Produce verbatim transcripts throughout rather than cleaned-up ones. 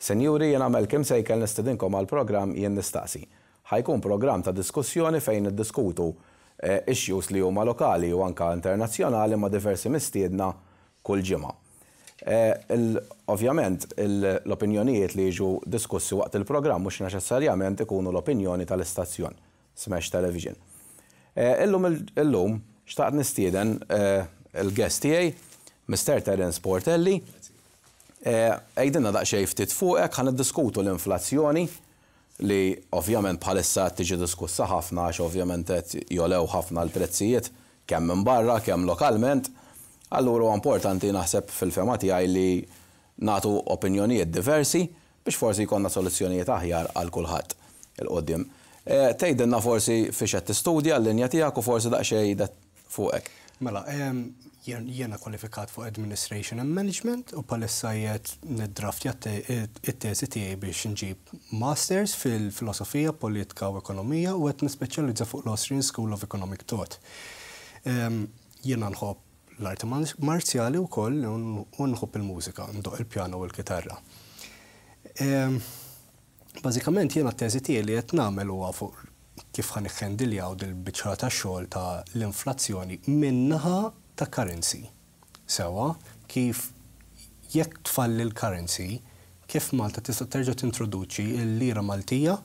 Senjuri, jena Malcolm Sejkel nistedinkom għal programm Jien Nistaqsi. Ħa jkun programm ta' diskussjoni fejn niddiskutu eh, issues li huma lokali u anka internazzjonali ma' diversi mistiedna kull ġimgħa. Eh, ovvjament, l-opinjonijiet li jiġu diskussi waqt il-programm mhux neċessarjament ikunu l-opinjoni tal-istazzjon Smash Television. Eh, illum illum xtaqt nistieden il-guest tiegħi, Mister Terence Portelli. Għidilna daqsxejn ftit fuqek, ħa niddiskutu l-inflazzjoni li ovvjament bħalissa tiġi diskussa ħafna għax ovvjament qed jogħlew ħafna l-prezzijiet kemm minn barra, kemm lokalment. Allura huwa importanti, naħseb fil-fehma tiegħi, li nagħtu opinjonijiet diversi biex forsi jkollna soluzzjonijiet aħjar għal kulħadd 'il quddiem. Tgħidilna forsi fiex qed tistudja, l-linja tiegħek u forsi daqsxejn fuqek. Mela, jiena kwalifikat fuq Administration and Management u bħalissa qiegħed niddraftja it-teżi tiegħi biex nġib Masters fil-Filosofija, Politika u Ekonomija u qed nispeċjalizza fuq l-Austrian School of Economic Thought. Jiena nħobb l-arti marzjali wkoll u nħobb il-mużika, ndoqq il-pjano u l-kitarra. Bażikament, jiena t-teżi tiegħi li qed nagħmel huwa fuq kif ħa niħħendiljaw dil-biċċa ta' xogħol ta' l-inflazzjoni min-naħa ta' currency. Sewwa, kif jekk tfalli l-currency, kif Malta tista' terġa' tintroduċi l-lira Maltija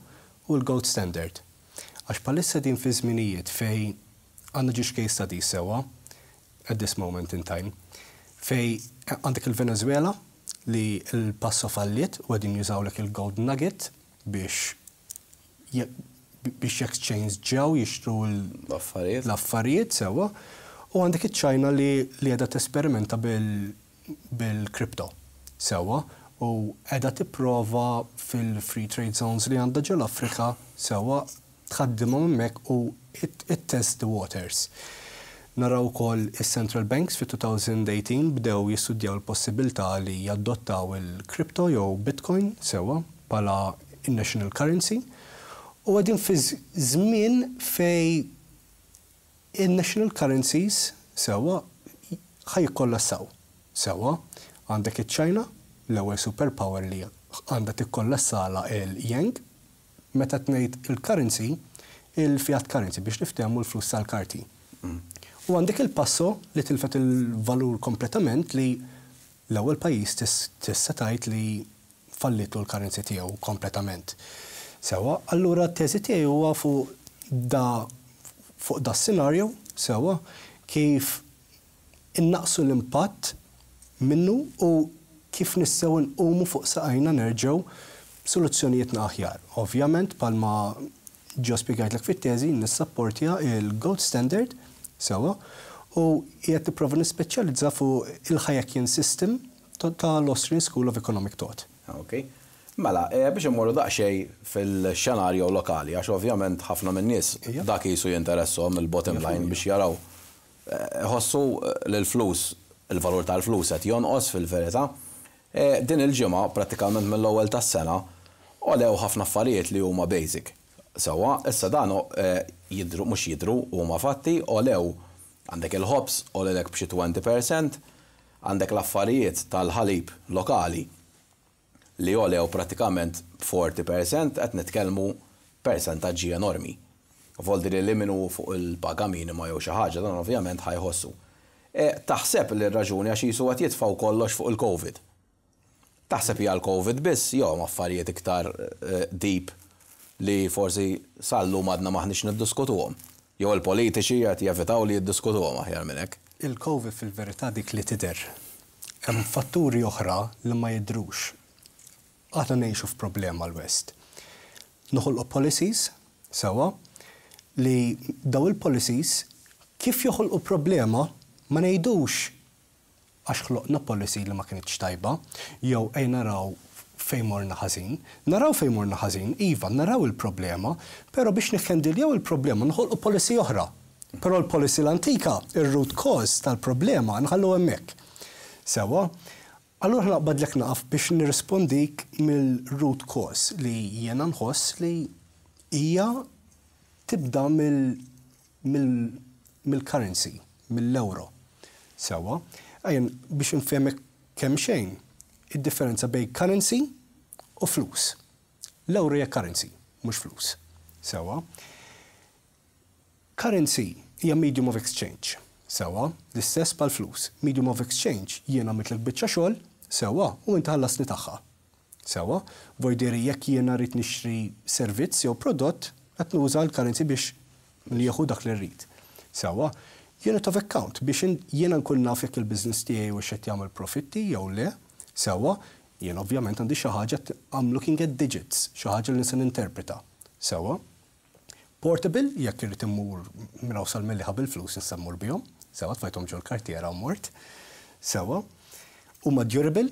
u l-gold standard. Għax bħalissa din fi żminijiet fej għandna ġiex case studies, sewwa, at this moment in time, fej għandek il-Venezuela li l-peso falliet u qegħdin jużawlek il-gold nugget biex biex exchange ġew jixtru l-affarijiet. L-affarijiet, sewwa. U għandek iċ-Ċina li li qiegħda tesperimenta bil-crypto. Sewwa, u qiegħda tipprova fil-free trade zones li għandha ġol-Afrika, sewwa, tħaddimhom hemmhekk u it test the waters. Naraw ukoll is-central banks fi elfejn u tmintax bdew jistudjaw l-possibilità li jadottaw il-crypto jew Bitcoin, sewwa, bħala national currency. U qegħdin fi żmien fej il-national currencies, sewwa, ħa jikkollassaw. Sewwa, għandek iċ-China, l-ewwel superpower li għandha tikkollassalha il-yuan, meta tgħid il-currency, il-fiat currency, biex niftehmu, l-flus tal-karti. U għandek il-peso li tilfet il-valur kompletament, li l-ewwel pajjiż tista' tgħid li fallitu l-currency tiegħu kompletament. Sewwa, allura t-teżi tiegħi huwa fuq da fuq da scenario, sewwa, kif innaqsu l-impatt minnu u kif nistgħu nqumu fuq saqajna nerġgħu soluzzjonijiet aħjar. Ovvjament, bħalma ġo spjegajtlek fit-teżi, nissapportja il-gold standard, sewwa, u qiegħed nipprova nispeċjalizza fuq il-Hayekian system tal-Austrian School of Economic Thought. Ok. Mela, eh, biex immorru daqsxejn fil-xenarju lokali, għax ovvjament ħafna minn nies dak jisu jinteressom il-bottom line biex jaraw. Eh, ħossu l-flus, il-valur tal-flus qed jonqos fil-verità. Eh, din il-ġimgħa, prattikament mill-ewwel tas-sena, għolew ħafna affarijiet li huma basic. Sewwa, issa dan jidru, mhux jidru, huma fatti, għolew, għandek il-ħobż, għolewlek b'xi għoxrin fil-mija, għandek l-affarijiet tal-ħalib lokali li għolew pratikament erbgħin fil-mija, qed nitkellmu persentaġġi enormi. Voldiri li minnu fuq il-paga minima jew xi ħaġa, dan ovvjament ħa jħossu. E, taħseb li r-raġuni għax jisu qed jitfgħu kollox fuq il-Covid? Taħseb hija l-Covid biss jew affarijiet iktar eh, deep li forsi sal-lum għadna maħniex niddiskutuhom? Jew il-politiċi qed jevitaw li jiddiskutuhom aħjar minn hekk. Il-Covid fil-verità dik li tidher. Hemm fatturi oħra li ma jidrux. Aħna ngħixu f'problema l-West. Noħolqu policies, sewwa, li daw il-policies kif joħolqu problema ma ngħidux għax ħloqna policy li ma kienx tajba, jew ej naraw fejn morna ħażin. Naraw fejn morna ħażin, iva, naraw il-problema, però biex niħħendiljaw il-problema nħolqu policy oħra. Però l-policy l-antika, il-root cause tal-problema, nħallu hemmhekk. Sewwa, allura naqbadlek naqaf biex nirrispondik mill-root cause li jiena nħoss li hija tibda mill-currency, mill-euro. Sewwa, għajn biex nfehmek kemm xejn, id-differenza bejn currency u flus. L-euro hija currency, mhux flus. Sewwa. Currency hija medium of exchange. Sewwa, l-istess bħal flus. Medium of exchange, jiena għamiltlek biċċa xogħol, sewwa, u inti ħallasni tagħha. Sewwa, voldiri jekk jiena rrid nixtri servizz jew prodott, qed nuża l-currency biex nieħu dak li rrid. Sewwa, unit of account biex jiena nkun naf jekk il-business tiegħi u x'qed jagħmel profitti jew le. Sewwa, jien ovvjament għandi xi ħaġa, I'm looking at digits, xi ħaġa li nista' ninterpreta. Sewwa. Portable, jekk irrid immur minn hawn sal-Mellieħa bil-flus nista' mmur bihom. Sewwa, tfajthom ġol kartiera u mort. Sewwa. Huma durable,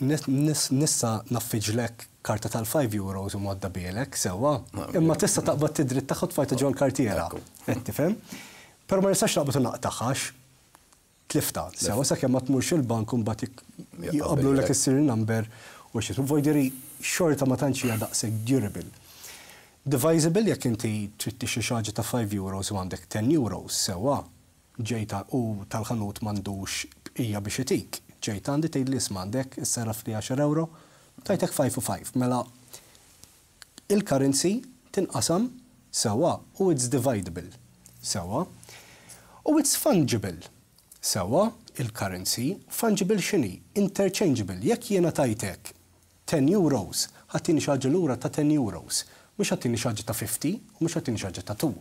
nista' ngħaffiġlek karta tal-five euros u modda bielek, sewwa. Imma tista' taqbad tidrit tagħha tfajta ġol kartiera. Qed tifhem? Però ma nistax naqbad u naqtagħha, tlifta. Sewwa, sakemm ma tmurx il-bank u mbagħad jaqblu lek is-serial number u xi. Voldiri xorta ma tantx hija daqshekk durable. Divisible, jekk inti trid tixtri xi ħaġa ta' five euros u għandek ten euros, sewwa, ġejta u tal-ħanut m'għandux hija biex itik. Ġejta għandi tgħid li isma' għandek issarraf li għaxar euro, tajtek five u five. Mela il-currency tinqasam, sewwa, u it's dividable. Sewwa. U it's fungible. Sewwa, il-currency, fungible x'inhi? Interchangeable. Jekk jiena tajtek ten euros, ħa ttini xi ħaġa lura ta' ten euros. Mhux ħa ttini xi ħaġa ta' fifty u mhux ħa ttini xi ħaġa ta' two.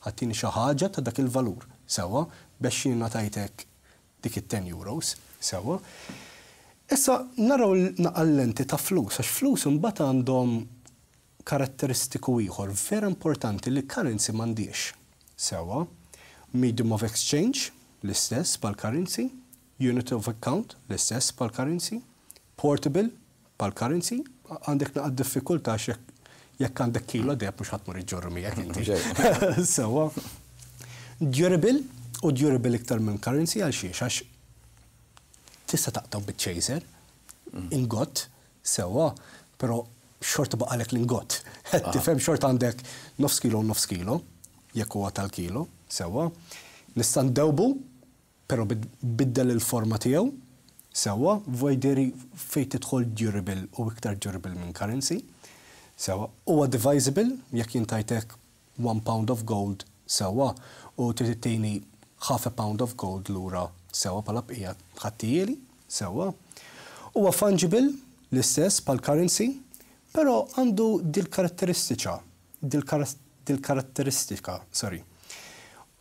Ħa ttini xi ħaġa ta' dak il-valur. Sewwa, biex jiena tajtek dik it-ten euros. Sewwa. Issa naraw naqal-lenti ta' flus, għax flus imbagħad għandhom karatteristiku ieħor vera importanti li currency m'għandix. Sewwa, medium of exchange, l-istess bħal currency, unit of account, l-istess bħal currency, portable bħal currency, għandek naqra diffikultà jekk għandek kilo deheb mhux ħa tmur iġġorru miegħek inti. Sewwa. Durable, u durable iktar minn currency għal xiex, għax tista' taqtaw bit-chaser, ingot, sewwa, però xorta baqalek l-ingot. Tifhem, xorta għandek nofs kilo u nofs kilo, jekk huwa tal-kilo, sewwa. Nista' ndewbu, però biddel il-forma tiegħu, sewwa, voldiri fejn tidħol durable u iktar durable minn currency. Sewwa, huwa divisible, jekk jien tajtek one pound of gold, sewwa, u trid ittini half a pound of gold lura, sewwa, bħala bqija ħa ttihieli, sewwa. Huwa fungible, l-istess bħal currency, però għandu dil-karatteristika, dil-karatteristika, sorry.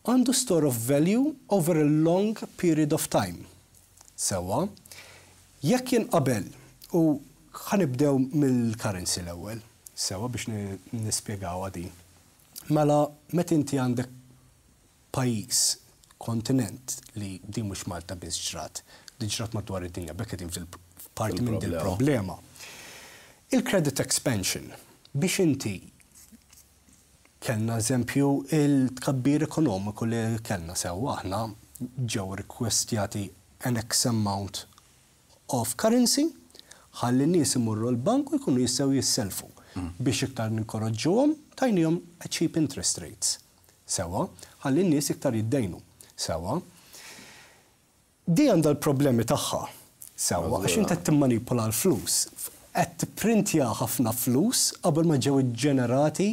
Għandu store of value over a long period of time. Sewwa, jekk jien qabel, u ħa nibdew mill-currency l-ewwel, sewwa, biex nispjegaw għadi. Mela, meta inti għandek pajjiż, kontinent, li di mhux Malta biss ġrat, di ġrat madwar id-dinja, bekk qegħdin fil-parti minn dil-problema. Il-credit expansion, biex inti kellna eżempju il-tkabbir ekonomiku li kellna, sewwa, aħna ġew rekwestjati an X amount of currency ħalli n-nies imurru l-bank u jkunu jistgħu jisselfu. Biex iktar ninkoraġġuhom tajnihom cheap interest rates. Sewwa, ħalli n-nies iktar jiddejnu. Sewwa. Di għandha l-problemi tagħha. Sewwa, għax inti qed timmanipula l-flus. Qed tipprintja ħafna flus qabel ma ġew ġenerati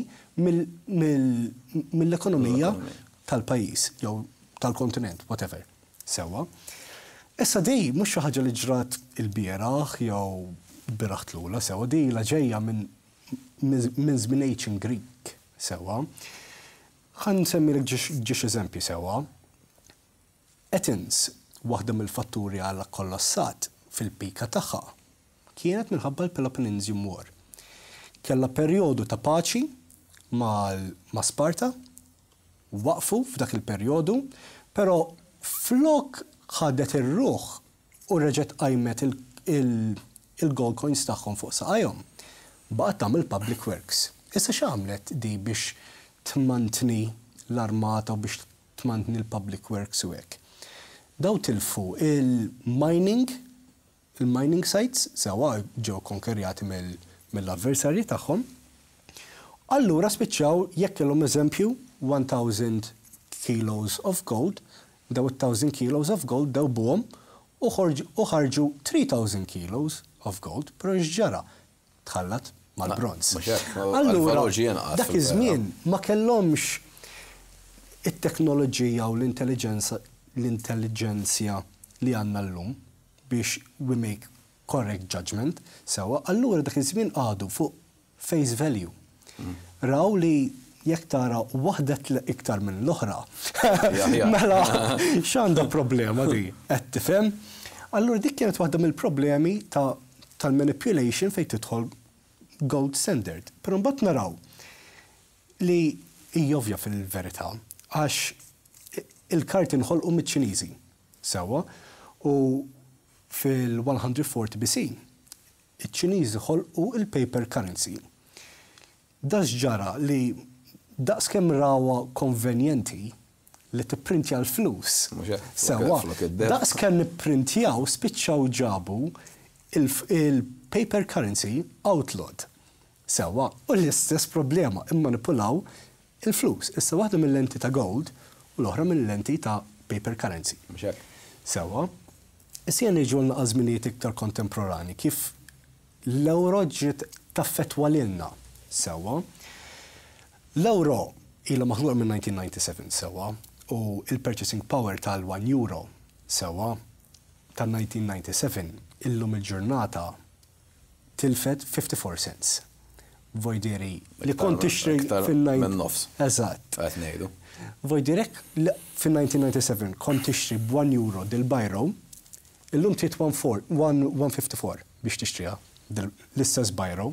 mill-ekonomija tal-pajjiż jew tal-kontinent, whatever. Sewwa. Issa di mhux xi ħaġa li ġrat il-bieraħ jew bieraħ tlula, sewwa, di la ġejja minn minn żmien ancient Greek, sewwa. Ħa nsemmilek ġiex eżempji, sewwa. Athens, waħda mill-fatturi għala kollassat fil-pika tagħha, kienet minħabba l-Peloponnesian War. Kella perjodu ta' paċi ma' Sparta, waqfu f'dak il-perjodu, però flok ħadet ir-ruħ u reġgħet qajmet il-gold coins tagħhom fuq saqajhom. Baqgħet tagħmel public works. Issa x'għamlet di biex tmantni l-armata u biex tmantni l-public works u hekk? Daw tilfu il-mining, il-mining sites, sewwa, ġew konkerjati mill-avversarji tagħhom. Allura spiċċaw jekk kellhom eżempju one thousand kilos of gold, daw one thousand kilos of gold dewbuhom u ħarġu three thousand kilos of gold, però x'ġara? Tħallat mal-bronz. Mhux hekk, Allura, il-valur ġie jinqas dak fil-vera. Iż-żmien ma kellhomx it-teknoloġija u l-intelligenza l-intelligenzja li għandna llum biex we make correct judgment, sewwa, allura dak iż-żmien għadu fuq face value. Raw li jekk tara waħda tle iktar minn l-oħra. Ja, ja. Mela, x'għandha problema di? Qed tifhem? Allura dik kienet waħda mill-problemi ta' tal-manipulation fejn tidħol gold standard. Però mbagħad naraw li hija ovvja fil-verità, għax il-karti nħolqu miċ-Ċiniżi, sewwa, u fil-one forty B C, iċ-Ċiniżi ħolqu il-paper currency. Da ġara li daqs kemm rawha konvenjenti li tipprintja l-flus. Mhux hekk, Sewwa, flok id-deheb. Daqs kemm nipprintjaw, spiċċaw ġabu il-paper currency outlawed. Sewwa, u l-istess problema, immanipulaw il-flus. Issa waħda mill-lenti ta' gold u l-oħra mill-lenti ta' paper currency. Mhux hekk. Sewwa, issa niġu l-żminijiet iktar kontemporani, kif l-euro ġiet taffetwa lilna. Sewwa, l-euro ilha maħluqa minn elf disa' mija u disgħa u disgħin, sewwa, u il-purchasing power tal-one euro, sewwa, tal-elf disa' mija u disgħa u disgħin illum il-ġurnata tilfet fifty-four cents. Voldiri li kont tixtri Iktar fin minn nofs. Eżatt. Qed ngħidu. Voldiri fin-elf disa' mija u disgħa u disgħin kont tixtri b'one euro dil-biro, illum trid one fifty-four biex tixtriha l-istess biro.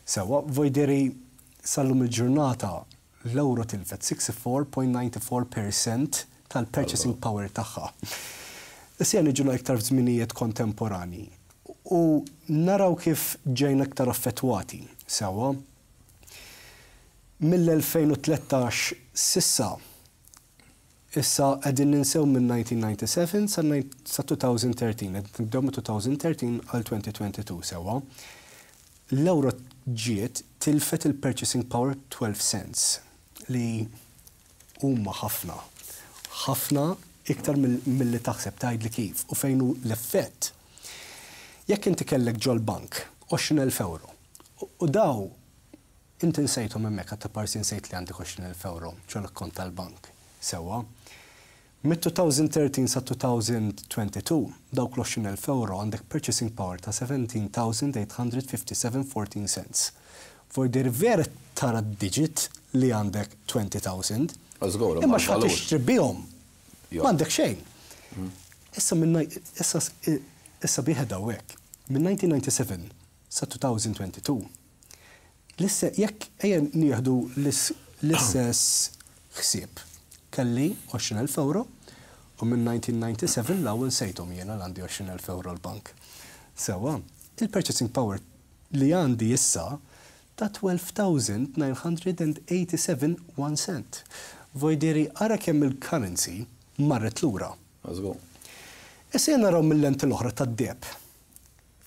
Sewwa, voldiri sal-lum il-ġurnata l-euro tilfet sixty-four point nine four percent tal-purchasing power tagħha. Issa niġu iktar f'żminijiet kontemporani u naraw kif ġejna iktar affettwati. Sewwa, mill-elfejn u tlettax s'issa, issa qegħdin ninsew minn elf disa' mija u disgħa u disgħin sa elfejn u tlettax, qed nibdew minn elfejn u tlettax għal elfejn u tnejn u għoxrin, sewwa. L-euro ġiet tilfet il-purchasing power twelve cents li huma ħafna. Ħafna iktar mill-li taħseb. Tgħid li kif u fejn hu l-effett. Jekk inti kellek ġol-bank għoxrin elf euro u daw inti nsejthom hemmhekk, għatta parsi nsejt li għandek għoxrin elf euro ġol-kont tal-bank. Sewwa. Mid-elfejn u tlettax sa elfejn u tnejn u għoxrin dawk l-għoxrin elf euro għandek purchasing power ta' seventeen thousand eight hundred fifty-seven fourteen cents. Voldiri vera tara digit li għandek twenty thousand. Żgur, Imma x'ħa tixtri bihom? Jo. M'għandek xejn. Issa minn issa issa biħed hawnhekk. Minn elf disa' mija u disgħa u disgħin sa elfejn u tnejn u għoxrin. L-isse jekk ejja nieħdu l-istess ħsieb. Kelli għoxrin elf euro u minn elf disa' mija u disgħa u disgħin l-ewwel sejthom jiena l għandi għoxrin elf euro l-bank. Sewwa, il-purchasing power li għandi issa ta' twelve thousand nine hundred eighty-seven one cent. Voldiri ara kemm il-currency marret lura. Żgur. Issa jena naraw mill-lenti l-oħra tad-deheb.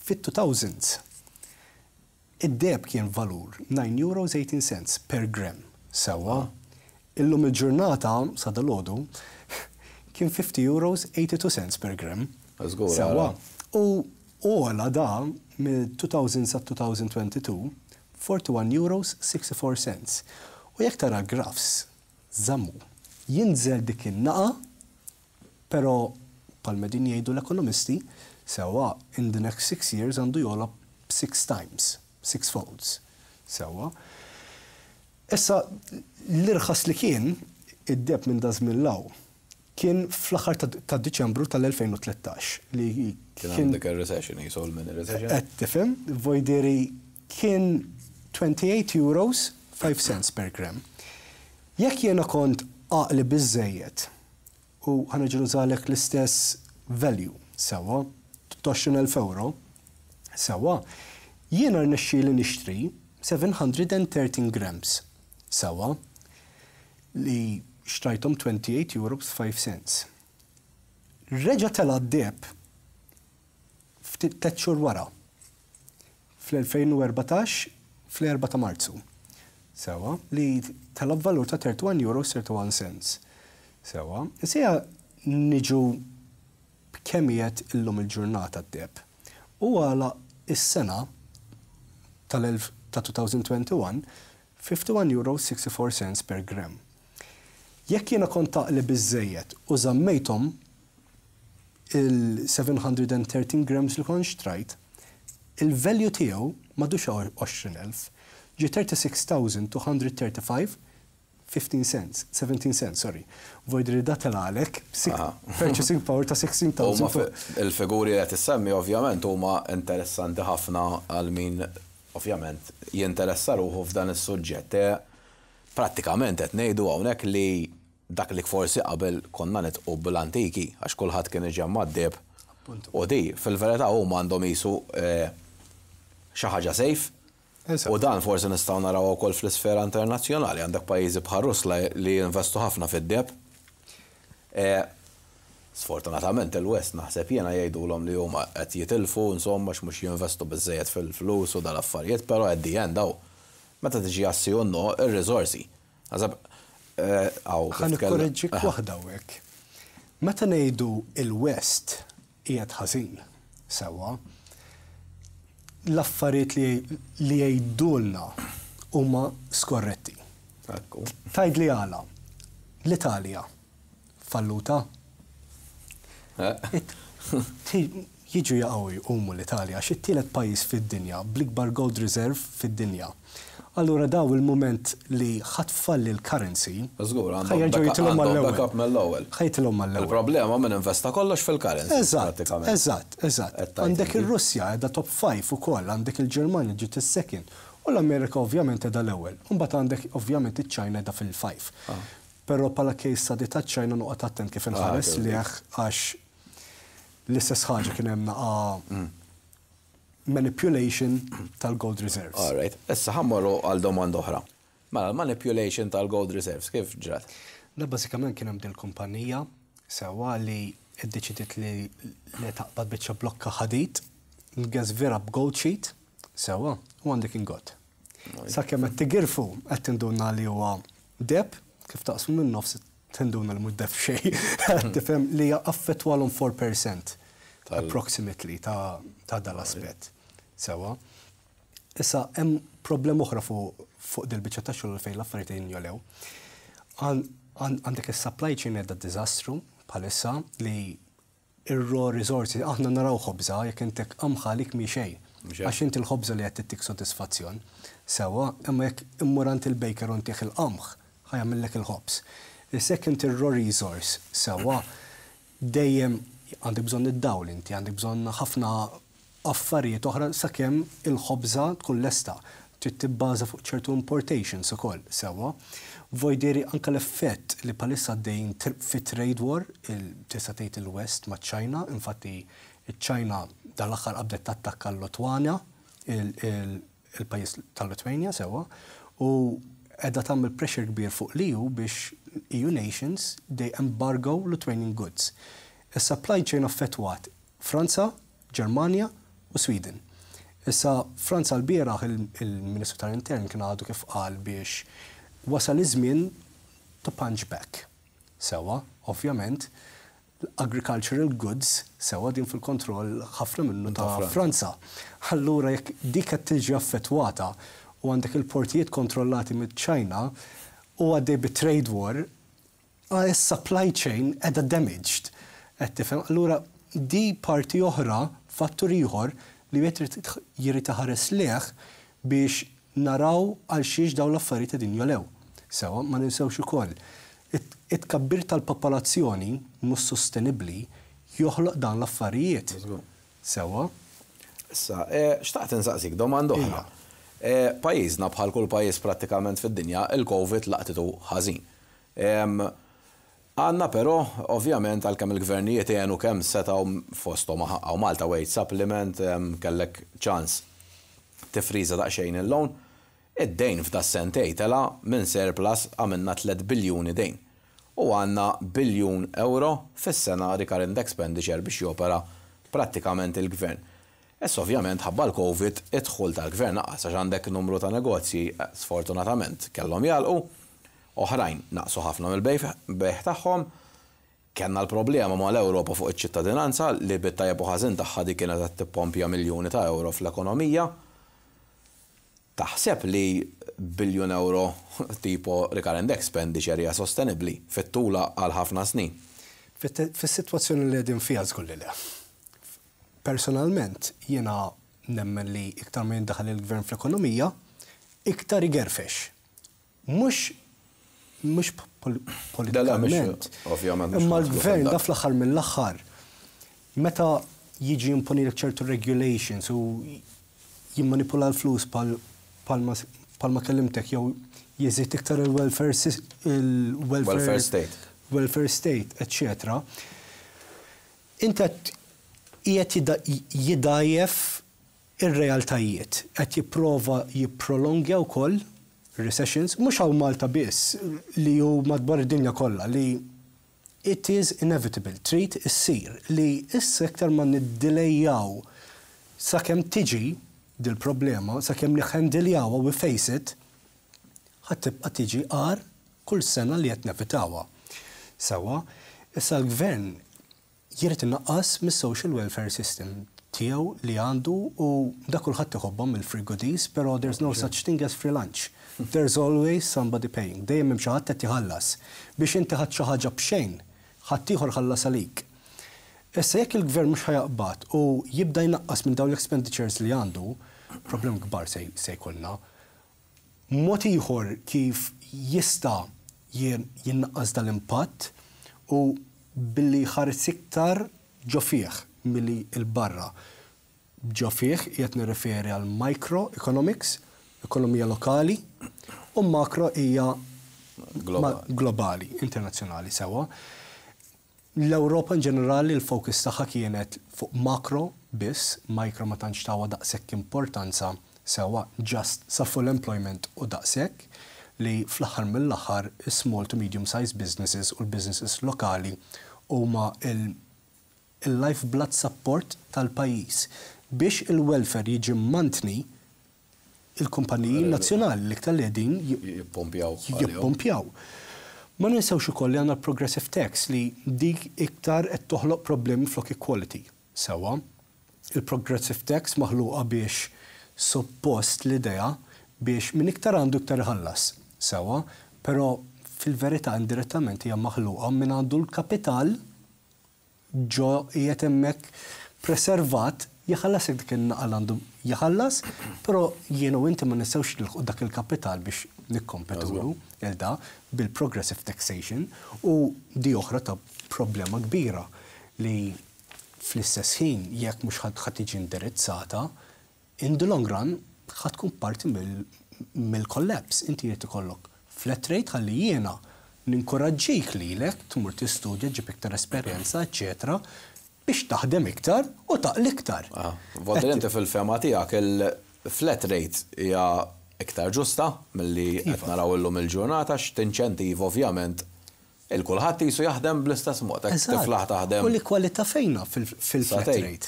Fit-two thousands, id-deheb kien valur nine euros eighteen cents per gram. Sewwa, illum il-ġurnata, sa dalgħodu, kien fifty euros eighty-two cents per gram. Żgur, Sewwa. ara. U għola da mill-two thousand sa elfejn u tnejn u għoxrin forty-one euros sixty-four cents. U jekk tara graphs, żammu, jinżel dik in-naqa, pero bħalma din jgħidu l-ekonomisti, sewwa, in the next six years għandu jogħla six times, six folds. Sewwa. Issa, l-irħas li kien, id-deheb minn daż-żmien 'l hawn, kien fl-aħħar ta' ta' Diċembru tal-elfejn u tlettax li Kien għandek il-recession, jisul minn il-recession. Qed tifhem, voldiri kien twenty-eight euros five cents per gram. Jekk jiena kont għaqli biżejjed u ħa nużalek l-istess value, sewwa, għoxrin elf euro, sewwa, jiena rnexxieli nixtri seven hundred thirteen grams, sewwa, li xtrajthom twenty-eight euros five cents. Reġa tela d-deheb ftit tliet xhur wara, fl-elfejn u erbatax fl-erba' ta' Marzu. Sewwa, li tela valur ta' thirty-one euros thirty-one cents. Sewwa, issa niġu b'kemm qiegħed illum il-ġurnata d-deheb. U għala is-sena tal-elf ta' elfejn u wieħed u għoxrin, fifty-one euro sixty-four cents per gram. Jekk jiena kont għaqli biżejjed u żammejthom il-seven hundred thirteen grams li kont xtrajt, il-value tiegħu m'għadux għoxrin elf, ġi thirty-six thousand two hundred thirty-five fifteen cents, seventeen cents, sorry. Voldiri da telgħalek purchasing power ta' sittax elef. Il-figuri li tissemmi ovvjament huma interessanti ħafna għal min ovvjament jinteressa ruħu f'dan is-suġġett. E, prattikament qed ngħidu hawnhekk li dak li forsi qabel konna nidħqu bl-antiki għax kulħadd kien iġemma d-deheb. U di fil-verità huma għandhom jisu e, xi ħaġa safe. U dan forsi nistgħu naraw ukoll fl-isfera internazzjonali, għandek pajjiżi bħal Russja li jinvestu ħafna fid-deheb. E, sfortunatament il-West naħseb jiena jgħidulhom li huma qed jitilfu, insomma, mhux jinvestu biżejjed fil-flus u dal-affarijiet, però at the end daw meta tiġi assi no ir-riżorsi. Naħseb Ħa nikkoreġġik waħda hawnhekk. Meta ngħidu il-West qiegħed ħażin sewwa, l-affarijiet li jgħidulna huma skorretti. Tgħid li għala, l-Italja falluta. Eh? Jiġu jaqgħu jqumu l-Italja, xi tielet pajjiż fid-dinja, bl-ikbar gold reserve fid-dinja. Allura daw il-moment li ħa tfalli l-currency, ħa jerġgħu jitilgħu mal-ewwel. Ħa jitilgħu mal-ewwel. Il-problema minn investa kollox fil-currency. Eżatt, eżatt, eżatt. Għandek ir-Russja qiegħda top five ukoll, għandek il-Ġermanja ġiet is-second, u l-Amerika ovvjament qiegħda l-ewwel. Imbagħad għandek ovvjament iċ-Ċina qiegħda fil-five. Ah. Però bħala case study ta' ċina noqgħod attent kif inħares li għax l-istess ħaġa kien hemm naqa mm. manipulation tal-gold reserves. All right. Issa ħa mmorru għal domanda oħra. Mela, manipulation tal-gold reserves, kif ġrat? Da bażikament kien hemm din kumpanija sewwa li iddeċidiet li li taqbad biċċa blokka ħadid, vera b'gold sheet, sewwa, u għandek ingot. Sakemm qed tigirfu qed tinduna li huwa deheb, kif taqsmu minn nofs tinduna li mhux deheb xejn. Tifhem li affettwalhom four percent approximately ta' ta' dal-aspett. Sewwa. Issa hemm problem oħra fuq fuq dil-biċċa ta' xogħol fejn l-affarijiet jinjolew. Għandek is-supply chain qiegħda diżastru bħalissa li ir-raw resources, aħna naraw ħobża, jekk intek qamħa lik mi xejn. Għax inti l-ħobża li qed tittik sodisfazzjon. Sewwa, imma jekk immur għand il-baker u ntih il-qamħ, ħa jagħmillek il-ħobż. Issa inti ir-raw resource, sewwa, dejjem għandek bżonn id-dawl inti, għandek bżonn ħafna affarijiet oħra sakemm il-ħobża tkun lesta. Trid tibbaża fuq ċertu importations ukoll, sewwa. Voldiri anka l-effett li bħalissa għaddejjin fi trade war, tista' tgħid il-West ma' China, infatti il-China dal-aħħar qabdet tattakka l-Lutwana, il-pajjiż tal-Litwania sewwa, u qiegħda tagħmel pressure kbir fuq l-E U biex E U nations they embargo Lithuanian goods. Is-supply chain affettwat Franza, Ġermanja u Sweden. Issa Franza l-bieraħ il-Ministru tal-Intern kien għadu kif qal biex wasal iż-żmien to punch back. Sewwa, ovvjament, agricultural goods sewwa din fil-kontroll ħafna minnu ta' Franza. Allura jekk dik qed tiġi affettwata u għandek il-portijiet kontrollati mid-China u għaddej bi trade war, is-supply chain qiegħda damaged. Qed tifhem? Allura di parti oħra, fattur ieħor li wieħed jrid iħares lejh biex naraw għal xiex dawn l-affarijiet qegħdin jolew. Sewwa, ma ninsewx ukoll. It-tkabbir tal-popolazzjoni mhux sostenibbli joħloq dan l-affarijiet. Sewwa. Issa, eh, xtaqt insaqsik domanda oħra. Eh, pajjiżna bħal kull pajjiż prattikament fid-dinja, il-Covid laqtitu ħażin. Għandna però, ovvjament, għalkemm il-gvernijiet jgħenu kemm setgħu, fosthom hawn Malta wage supplement, kellek ċans tifriża daqsxejn il-loan, id-dejn f'da sentej tela minn surplus għamilna tliet biljuni dejn. U għandna biljun euro fis-sena recurrent expenditure biex jopera prattikament il-gvern. Issa ovvjament ħabba l-Covid id-dħul tal-gvern naqas għax għandek numru ta' negozji eh, sfortunatament kellhom jagħlqu, oħrajn naqsu ħafna mill-bejgħ tagħhom, kellna l-problema ma l-Ewropa fuq iċ-ċittadinanza li bit-tajjeb u ħażin tagħha di kienet qed tippompja miljuni ta' euro fl-ekonomija. Taħseb li biljun euro tipo recurrent expenditure hija sostenibbli fit-tula għal ħafna snin? Fis-sitwazzjoni li qegħdin fiha, żgur li le. Personalment, jiena nemmen li iktar ma jindaħal il-gvern fl-ekonomija, iktar igerfex. Mhux mhux politikament. Ovvjament. Imma l-gvern da fl-aħħar mill-aħħar, meta jiġi imponi ċertu regulations u jimmanipula l-flus bħalma kellimtek jew jeżid iktar il-welfare il-welfare state. Welfare state, eccetera. Inta qiegħed jidgħajjef ir-realtajiet, qed jipprova jipprolongja wkoll recessions, mhux hawn Malta biss, li hu madwar id-dinja kollha, li it is inevitable, trid issir, li issa iktar ma niddilejjaw sakemm tiġi dil-problema, sakemm niħendiljawha, we face it, ħa tibqa' tiġi agħar kull sena li qed nevitawha. Sewwa, issa l-gvern jrid inaqqas mis-social welfare system tiegħu li għandu u da kulħadd iħobbhom il-free goodies, però there's no such thing as free lunch. There's always somebody paying. Dejjem hemm xi ħadd qed jħallas. Biex inti ħadd xi ħaġa b'xejn, ħadd ieħor ħallas għalik. Issa jekk il-gvern mhux ħa jaqbad u jibda jnaqqas minn dawn l-expenditures li għandu, problem kbar se jkollna. Mod ieħor kif jista' jinnaqqas dal-impatt u billi ħares iktar ġo fih milli 'l barra. Ġo fih qed nirreferi għal microeconomics, ekonomija lokali, u makro hija globali, internazzjonali, sewwa. L-Ewropa in ġenerali l-fokus tagħha kienet fuq makro biss, micro ma tantx tawha daqshekk importanza, sewwa, just sa full employment u daqshekk, li fl-aħħar mill-aħħar small to medium sized businesses u l-businesses lokali huma il-lifeblood support tal-pajjiż biex il-welfare jiġi mantni. Il-kumpaniji nazzjonali l-iktar li qegħdin jippompjaw. Jippompjaw. Ma ninsewx ukoll li għandna progressive tax, li dik iktar qed toħloq problemi flok equality. Sewwa, il-progressive tax maħluqa biex suppost l-idea biex min iktar għandu iktar iħallas. Sewwa, però fil-verità indirettament hija maħluqa min għandu l-kapital ġo qiegħed hemmhekk preservat jħallas dik in-naqal għandu jħallas, però jiena u inti ma nistgħux nilħqu dak il-kapital biex nikkompetulu il-da bil-progressive taxation. U di oħra ta' problema kbira li fl-istess ħin, jekk mhux ħa tiġi indirizzata, in the long run ħa tkun parti mill-collapse. Inti jrid ikollok flat rate ħalli jiena ninkoraġġik lilek tmur tistudja, ġib iktar esperjenza, eċetera, biex taħdem iktar u taqla' iktar. Ah, Vodri, inti fil-fehma tiegħek il-flat rate hija iktar ġusta milli qed iva. naraw illum il-ġurnata, x'tinċentiv ovvjament il-kulħadd jisu jaħdem bl-istess mod, tiflaħ taħdem. U l-kwalità fejna fil-flat rate?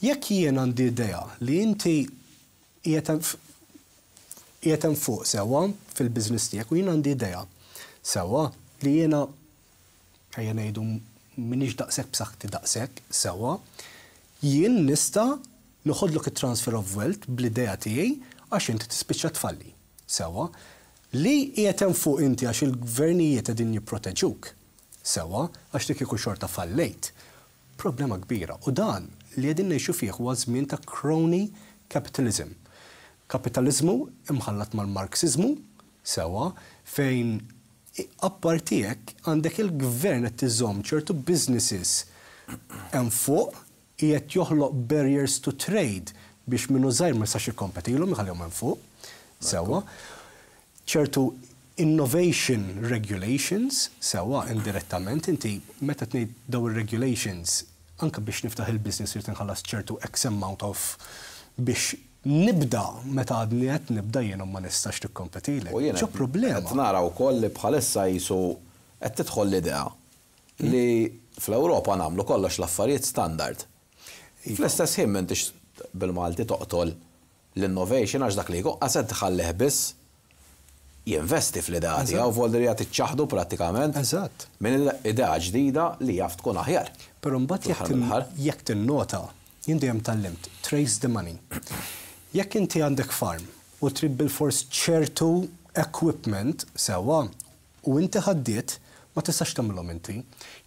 Jekk jien għandi idea li inti qiegħed fuq, sewwa, fil-business tiegħek u jien għandi idea, sewwa, li jiena, ejja ngħidu, m'iniex daqshekk b'saħħti daqshekk, sewwa, jien nista' noħodlok it-transfer of wealth bl-idea tiegħi għax inti tispiċċa tfalli. Sewwa, li qiegħed hemm fuq inti għax il-gvernijiet qegħdin jipproteġuk. Sewwa, għax dik ikun xorta fallejt. Problema kbira. U dan li qegħdin ngħixu fih huwa żmien ta' crony capitalism. Kapitalizmu imħallat mal-Marxizmu, sewwa, fejn apparti hekk għandek il-gvern qed tiżomm ċertu businesses hemm fuq, qiegħed joħloq barriers to trade biex minnu żgħir ma jistax jikkompetilhom, iħallihom hemm fuq. Sewwa. Ċertu innovation regulations, sewwa, indirettament inti meta tgħid daw ir-regulations, anke biex niftaħ il-business irid inħallas ċertu X amount of biex nibda, meta għadni qed nibda jiena ma nistax tikkompetilek. U jiena ċo problema. Qed nara wkoll li bħalissa jisu qed tidħol l-idea li fl-Ewropa nagħmlu kollox l-affarijiet standard. Iva. Fl-istess ħin m'intix bil-Malti toqtol l-innovation, għax dak li jkun qased tħallih biss jinvesti fl-idea tiegħu, voldri qed iċċaħdu prattikament Eżatt. minn idea ġdida li jaf tkun aħjar. Però mbagħad jekk Fl-aħħar tin- mill-aħħar. jekk tinnota, jien dejjem tgħallimt, trace the money. Jekk inti għandek farm u trid bil-fors ċertu equipment, sewwa, u inti ħaddiet, ma tistax tagħmilhom inti.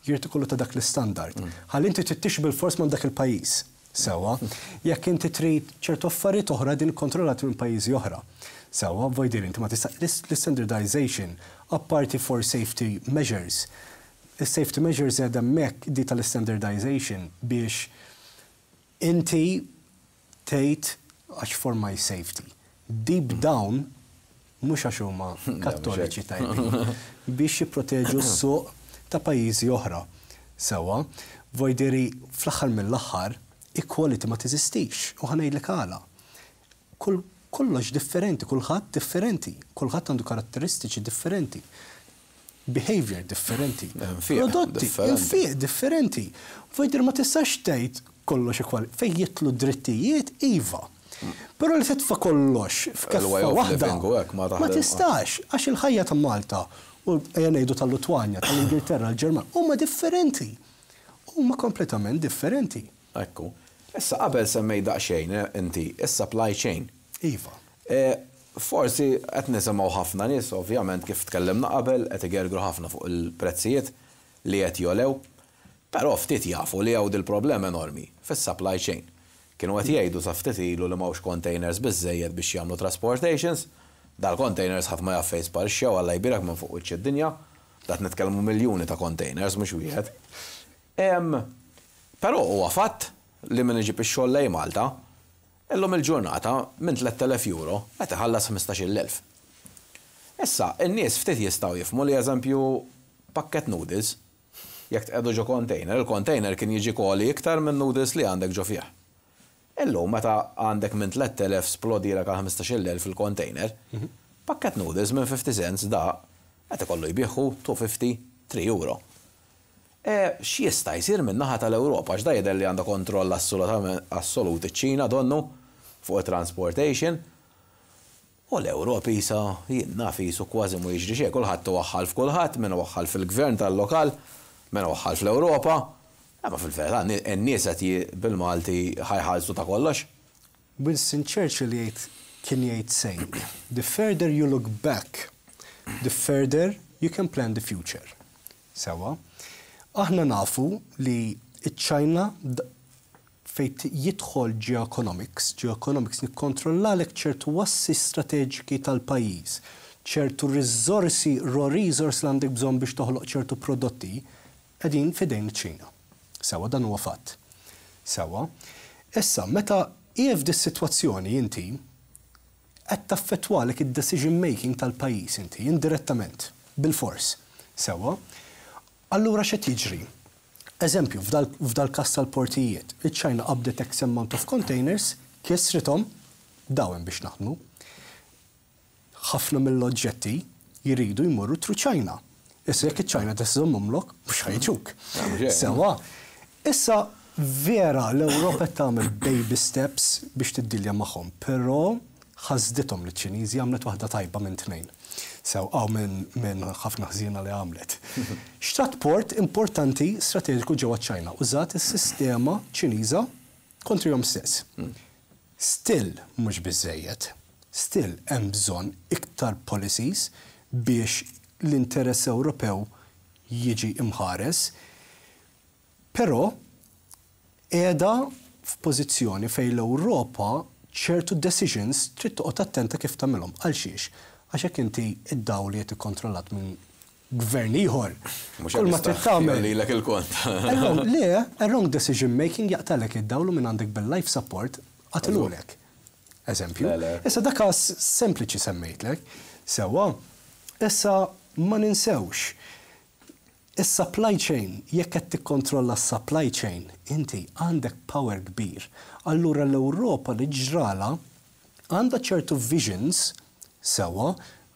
Jrid ikollu ta' dak l-istandard. Ħalli inti tittix bil-fors minn dak il-pajjiż. Sewwa, jekk inti trid ċertu affarijiet oħra din kontrollati minn pajjiżi oħra. Sewwa, voldiri inti ma tista' l-standardization, apparti for safety measures. Il-safety measures qegħda hemmhekk di tal-standardization biex inti tgħid għax for my safety. Deep down, mhux għax huma kattoliċi tajbin, biex jipproteġu s-suq ta' pajjiżi oħra. Sewwa, voldiri fl-aħħar mill-aħħar, equality ma teżistix u ħa ngħidlek għala. Kull kollox differenti, kulħadd differenti, kulħadd għandu karatteristiċi differenti, behavior differenti, Infiq prodotti, differenti. Infiq differenti. Voldiri ma tistax tgħid kollox ekwali. Fejn jidħlu drittijiet, iva. Però li titfa' kollox f'keffa Il-way of waħda, living u hekk ma ma taħdem. tistax, għax il-ħajja ta' Malta u ejja ngħidu tal-Lutwanja, tal-Ingilterra, l-Ġermanja, huma differenti. Huma kompletament differenti. Ekku. Issa qabel semmej daqsxejn eh, inti, is-supply chain. Iva. Eh, Forsi qed nisimgħu ħafna nies, ovvjament kif tkellimna qabel, qed igergru ħafna fuq il-prezzijiet li qed jogħlew, però ftit jafu li hawn dil-problema enormi fis-supply chain. Kienu qed jgħidu sa ftit ilu li m'hawnx containers biżejjed biex jagħmlu transportations, dal-containers ħadd ma jaf fejn sparixxew, Alla jbierek, minn fuq wiċċ id-dinja, dat nitkellmu miljuni ta' containers mhux wieħed. Em, Però huwa fatt li min iġib ix-xogħol lejn Malta, illum il-ġurnata minn tlett elef euro qed iħallas ħmistax-il elf. Issa, in-nies ftit jistgħu jifhmu li, eżempju, pakket noodles, jekk tqiegħdu ġo container, il-container kien jiġi koli iktar minn noodles li għandek ġo fih. Illum meta għandek minn tlett elef splodilek għal ħmistax-il elf fil-container, pakket noodles minn fifty cents da qed ikollu jbigħu two fifty, three euro. E, x'jista' jsir minn naħa tal-Ewropa, x'da jidher li għandha kontroll assolutament assolut iċ-Ċina donnu fuq transportation? U l-Ewropa isa jien naf jisu kważi mu jiġri xejn, kulħadd waħħal f'kulħadd, min waħħal fil-gvern tal-lokal, min waħħal fl-Ewropa. Imma fil-verità n-nies qed bil-Malti ħa jħallsu ta' kollox. Winston Churchill jgħid kien jgħid saying, "The further you look back, the further you can plan the future." Sewwa, aħna nafu li iċ-Ċina fejn jidħol geoeconomics, geoeconomics nikkontrollalek ċertu assi strateġiki tal-pajjiż, ċertu riżorsi, raw resource li għandek bżonn biex toħloq ċertu prodotti, qegħdin fidejn iċ-Ċina. Sewwa, dan huwa fatt. Sewwa. Issa, meta qiegħed f'dis-sitwazzjoni inti qed taffettwalek id-decision making tal-pajjiż inti indirettament, bil-fors. Sewwa. Allura x'qed jiġri? Eżempju, f'dal kas tal-portijiet, iċ-Ċina qabdet X amount of containers, kisrithom, dawn biex naħdmu. Ħafna mill-oġġetti jiridu jmorru through China. Issa jekk iċ-Ċina tiżommhomlok, mhux ħa jiġuk. Sewwa, issa vera l-Ewropa tagħmel baby steps biex tiddilja magħhom, però ħasdithom li ċ-Ċiniżi, għamlet waħda tajba minn tnejn. Sew għaw minn ħafna ħżiena li għamlet. Xtrat port importanti strateġiku ġewwa ċ-Ċina, użat is-sistema Ċiniża kontrihom stess. Still mhux biżejjed. Still hemm bżonn iktar policies biex l-interess Ewropew jiġi imħares. Però qiegħda f'pożizzjoni fejn l-Ewropa ċertu decisions trid toqgħod attenta kif tagħmilhom. Għal xiex? Għax hekk inti id-dawl li qed ikkontrollat minn gvern ieħor. Kull ma trid tagħmel. Lilek il-kont. Le, a wrong decision making jaqtalek id-dawl minn għandek bil-life support qatilulek. Eżempju. Issa dak każ sempliċi semmejtlek. Sewwa, issa ma ninsewx. Is-supply chain, jekk qed tikkontrolla s-supply chain, inti għandek power kbir. Allura l-Ewropa li ġrala għandha ċertu visions, sewwa,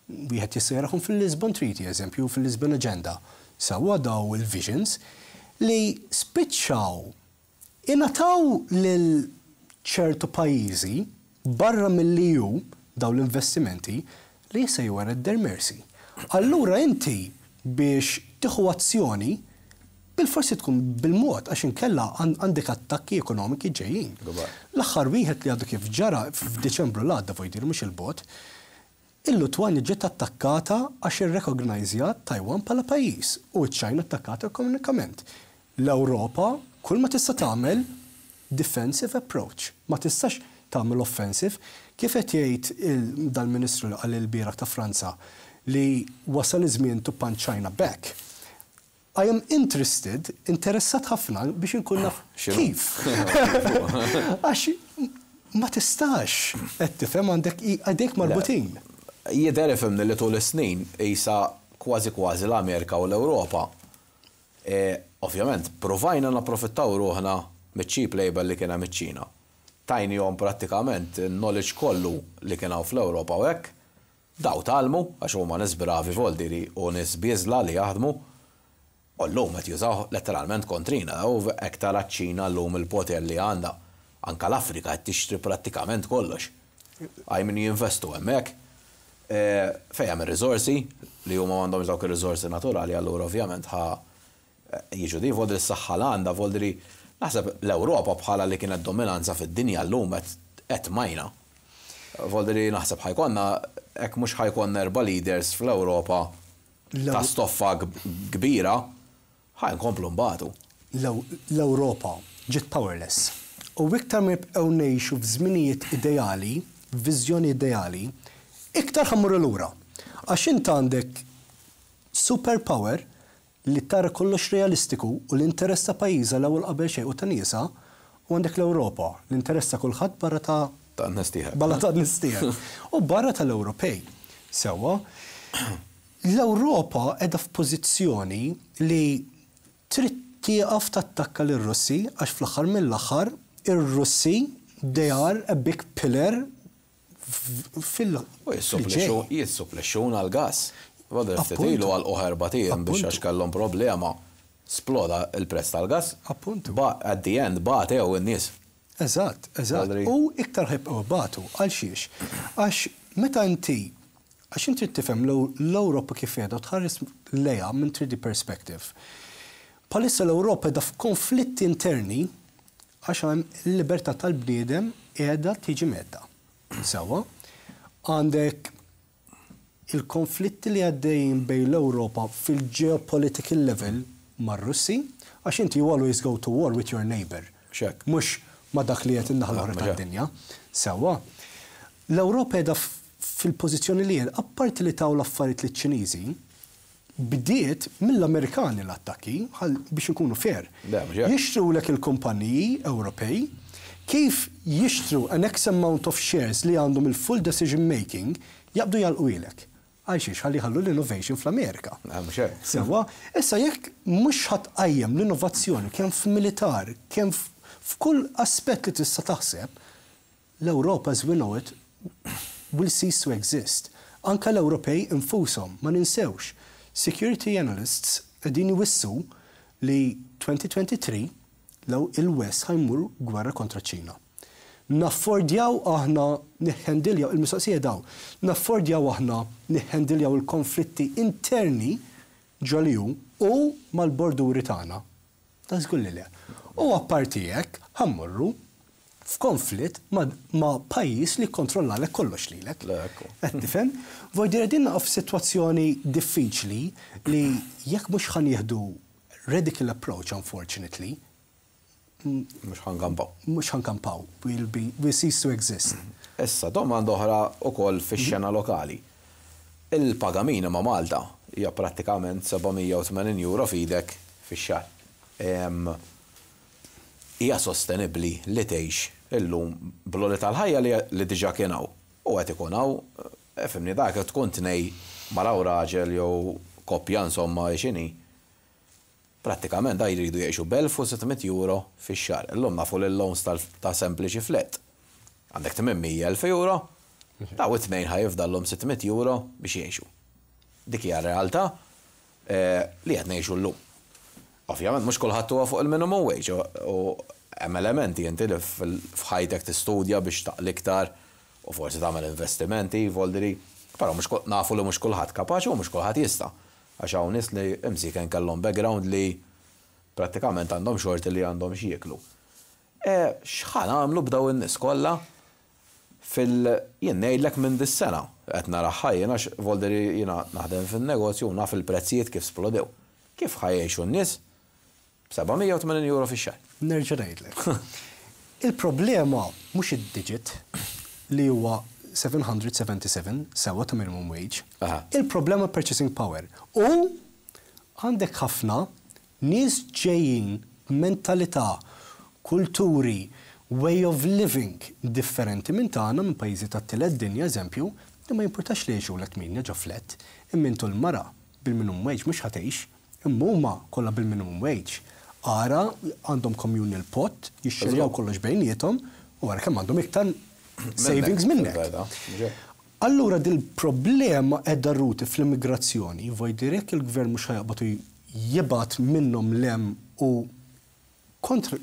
wieħed jista' jarahom fil-Lisbon Treaty, eżempju, fil-Lisbon Agenda. Sewwa, daw il-visions li spiċċaw ingħataw lil ċertu pajjiżi barra mill-E U daw l-investimenti li jista' you are at their mercy. Allura inti biex tieħu azzjoni Bil-forsi tkun bil-mod, għax inkella għandek attakki ekonomiki ġejjin. L-aħħar wieħed li għadu kif ġara f'Diċembru l-għadda, voldiri mhux il-bogħod, il-Lutwanja ġiet attakkata għax irrekognajzjat Taiwan bħala pajjiż u ċ-Ċina attakkata ekonomikament. L-Ewropa kull ma tista' tagħmel defensive approach. Ma tistax tagħmel offensive. Kif qed jgħid dal-Ministru li qal il-bieraħ ta' Franza li wasal iż-żmien to punch China back. I am interested, interessat ħafna biex inkun naf kif. Għax ma tistax, qed tifhem, għandek għadek marbutin. Jidher, ifhimni, li tul is-snin isa kważi kważi l-Amerika u l-Ewropa. E, ovvjament, provajna napprofittaw ruħna mit-cheap labor li kien hemm iċ-Ċina. Tajnihom prattikament knowledge kollu li kien hawn fl-Ewropa u hekk. Daw tgħallmu, għax huma nies bravi, voldiri, u nies bieżla li jaħdmu. U llum qed jużaw letteralment kontrina, u hekk tara ċ-Ċina llum il-poter li għandha. Anka l-Afrika qed tixtri prattikament kollox. Għaj min jinvestu hemmhekk. E, fejn hemm ir-riżorsi li huma m'għandhomx dawk ir-riżorsi naturali, allura ovvjament ħa jiġu di voldri s-saħħa l għandha, voldri naħseb l-Ewropa bħala li kienet dominanza fid-dinja llum qed majna. Voldri naħseb ħa jkollna, hekk mhux ħa jkollna erba' leaders fl-Ewropa ta' stoffa kbira, ħa nkomplu nbatu. L-Ewropa ġiet powerless. U iktar ma jibqgħu ngħixu f'żminijiet ideali, viżjoni ideali, iktar ħa mmorru lura. Għax int għandek superpower li tara kollox realistiku u l-interess ta' pajjiżha l-ewwel qabel xejn u ta' niesha, u għandek l-Ewropa, l-interess ta' kulħadd barra ta' Ta' nistieħek. Barra ta' nistieħek. U barra tal-Ewropej. Sewwa, l-Ewropa qiegħda f'pożizzjoni li trid tieqaf tattakka lir-Russi għax fl-aħħar mill-aħħar ir-Russi, they are a big pillar fil- U jissupplixxuna l-gas. Għadha ftit ilu għal erbat ijiem biex għax kellhom problema sploda il-prezz tal-gas. Appuntu. Ba at the end batew in-nies. Eżatt, eżatt. U iktar ħa jibqgħu jbatu, għal xiex? Għax meta inti, għax inti tifhem l-Ewropa kif qiegħda tħares lejha minn three D perspective. Bħalissa l-Ewropa qiegħda f'konflitti interni għax hemm il-libertà tal-bniedem qiegħda tiġi mhedda. Sewwa, għandek il-konflitti li għaddejjin bejn l-Ewropa fil-geopolitical level mar-Russi, għax inti you always go to war with your neighbor. Xek. Mhux ma dak li qed in-naħa l-oħra tad-dinja. Sewwa. L-Ewropa qiegħda fil-pożizzjoni li qiegħda, apparti li taw l-affarijiet liċ-Ċiniżi, bdiet mill-Amerikani l-attakki, biex nkunu fair. Jixtru lek il-kumpaniji Ewropej, kif jixtru an X amount of shares li għandhom il-full decision making, jaqbdu jagħlqu. Għal xiex? Ħalli ħallu l-innovation fl-Amerika. Sewwa, issa jekk mhux ħa tqajjem l-innovazzjoni kemm f'militar, kemm f'kull aspett li tista' taħseb, l-Ewropa as we know it will cease to exist. Anka l-Ewropej infushom, ma ninsewx. Security analysts qegħdin jwissu li twenty twenty-three law il-West ħa jmur gwerra kontra ċina. Naffordjaw aħna niħendiljaw, il-mistoqsija daw, naffordjaw aħna niħendiljaw il-konflitti interni ġol-E U u mal-borduri tagħna? Ta' żgur li le. U apparti hekk ħa mmorru f'konflitt ma, ma pajjiż li kontrollalek kollox lilek. Qed tifhem? Voldiri din f'sitwazzjoni diffiċli li jekk mhux ħa nieħdu radical approach, unfortunately, Mhux ħa nkampaw. Mhux ħa nkampaw. We'll be, we cease to exist. Issa, domanda oħra ukoll fix-xena lokali. Il-paga minima Malta hija prattikament seba' mija u tmenin euro f'idek fix-xahar. Hija sostenibbli li tgħix illum bl-għoli tal-ħajja li diġà kien hawn u qed ikun hawn, ifhimni, dak tkun tnej mara u raġel jew koppja, insomma, x'inhi, prattikament da jridu jgħixu b'elf u sitt mitt euro fix-xahar. Illum nafu li l-loans ta' sempliċi flat. Għandek tmien mija elf euro, daw it-tnejn ħa jifdallhom sitt mitt euro biex jgħixu. Dik hija realtà eh, li qed ngħixu llum. Ovvjament mhux kulħadd huwa fuq il-minimum wage u hemm elementi inti li f'ħajtek tistudja biex taqla' iktar u forsi tagħmel investimenti, voldiri, però mhux nafu li mhux kulħadd kapaċi u mhux kulħadd jista'. Għax hawn nies li imsiken kellhom background li Prattikament għandhom xorti li għandhom x'jieklu. E, x'ħa nagħmlu b'daw in-nies kollha fil jien ngħidlek minn dis-sena qed naraha jiena, volderi jiena naħdem fin-negozju u naf il-prezzijiet kif splodew. Kif ħa jgħixu n-nies b'seba' mija u tmenin euro fix-xahar? Nerġa' ngħidlek. Il-problema mhux id-digit li huwa seba' mija u sebgħa u sebgħin sewwa ta' minimum wage. Aha. Il-problema purchasing power. U għandek ħafna nies ġejjin mentalità, kulturi, way of living differenti minn tagħna, minn pajjiżi tat-tielet dinja, eżempju, li ma jimpurtax li jgħixu l tminja ġo flat, imma intu l-mara bil-minimum wage mhux ħa tgħix, imma huma kollha bil-minimum wage. Ara għandhom communal pot, jixxerjaw kollox bejniethom u ara kemm għandhom iktar savings minnek. Fil-verità, mhux hekk? Allura dil-problema qiegħda rooted fl-immigrazzjoni, voldiri jekk il-gvern mhux ħa jaqbad u jibgħat minnhom 'l hemm u kontra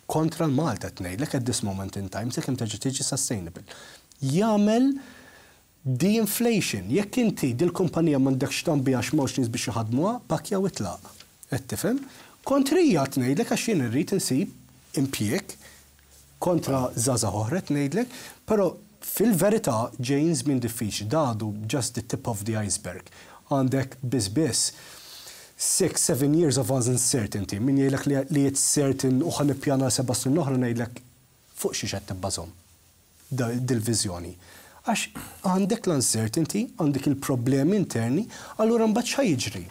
kontra l-Malta tnejlek at this moment in time, sakemm terġa' tiġi sustainable. Jagħmel de-inflation. Jekk inti dil-kumpanija m'għandekx tambi għax m'hawnx nies biex jaħdmuha, pakja u itlaq. Qed tifhem? Kontrija tnejlek, għax jien irrid insib impjieg kontra żgħażagħ oħra tnejlek, però fil-verità ġejjin żmien diffiċli, dadu just the tip of the iceberg. Għandek biss biss six, seven years of uncertainty. Min jgħidlek li, li it's certain u ħa nippjana seba' snin oħra, ngħidlek fuq xi qed tibbażhom dil-viżjoni. Għax għandek l-uncertainty, għandek il-problemi interni, allura mbagħad x'ħa jiġri?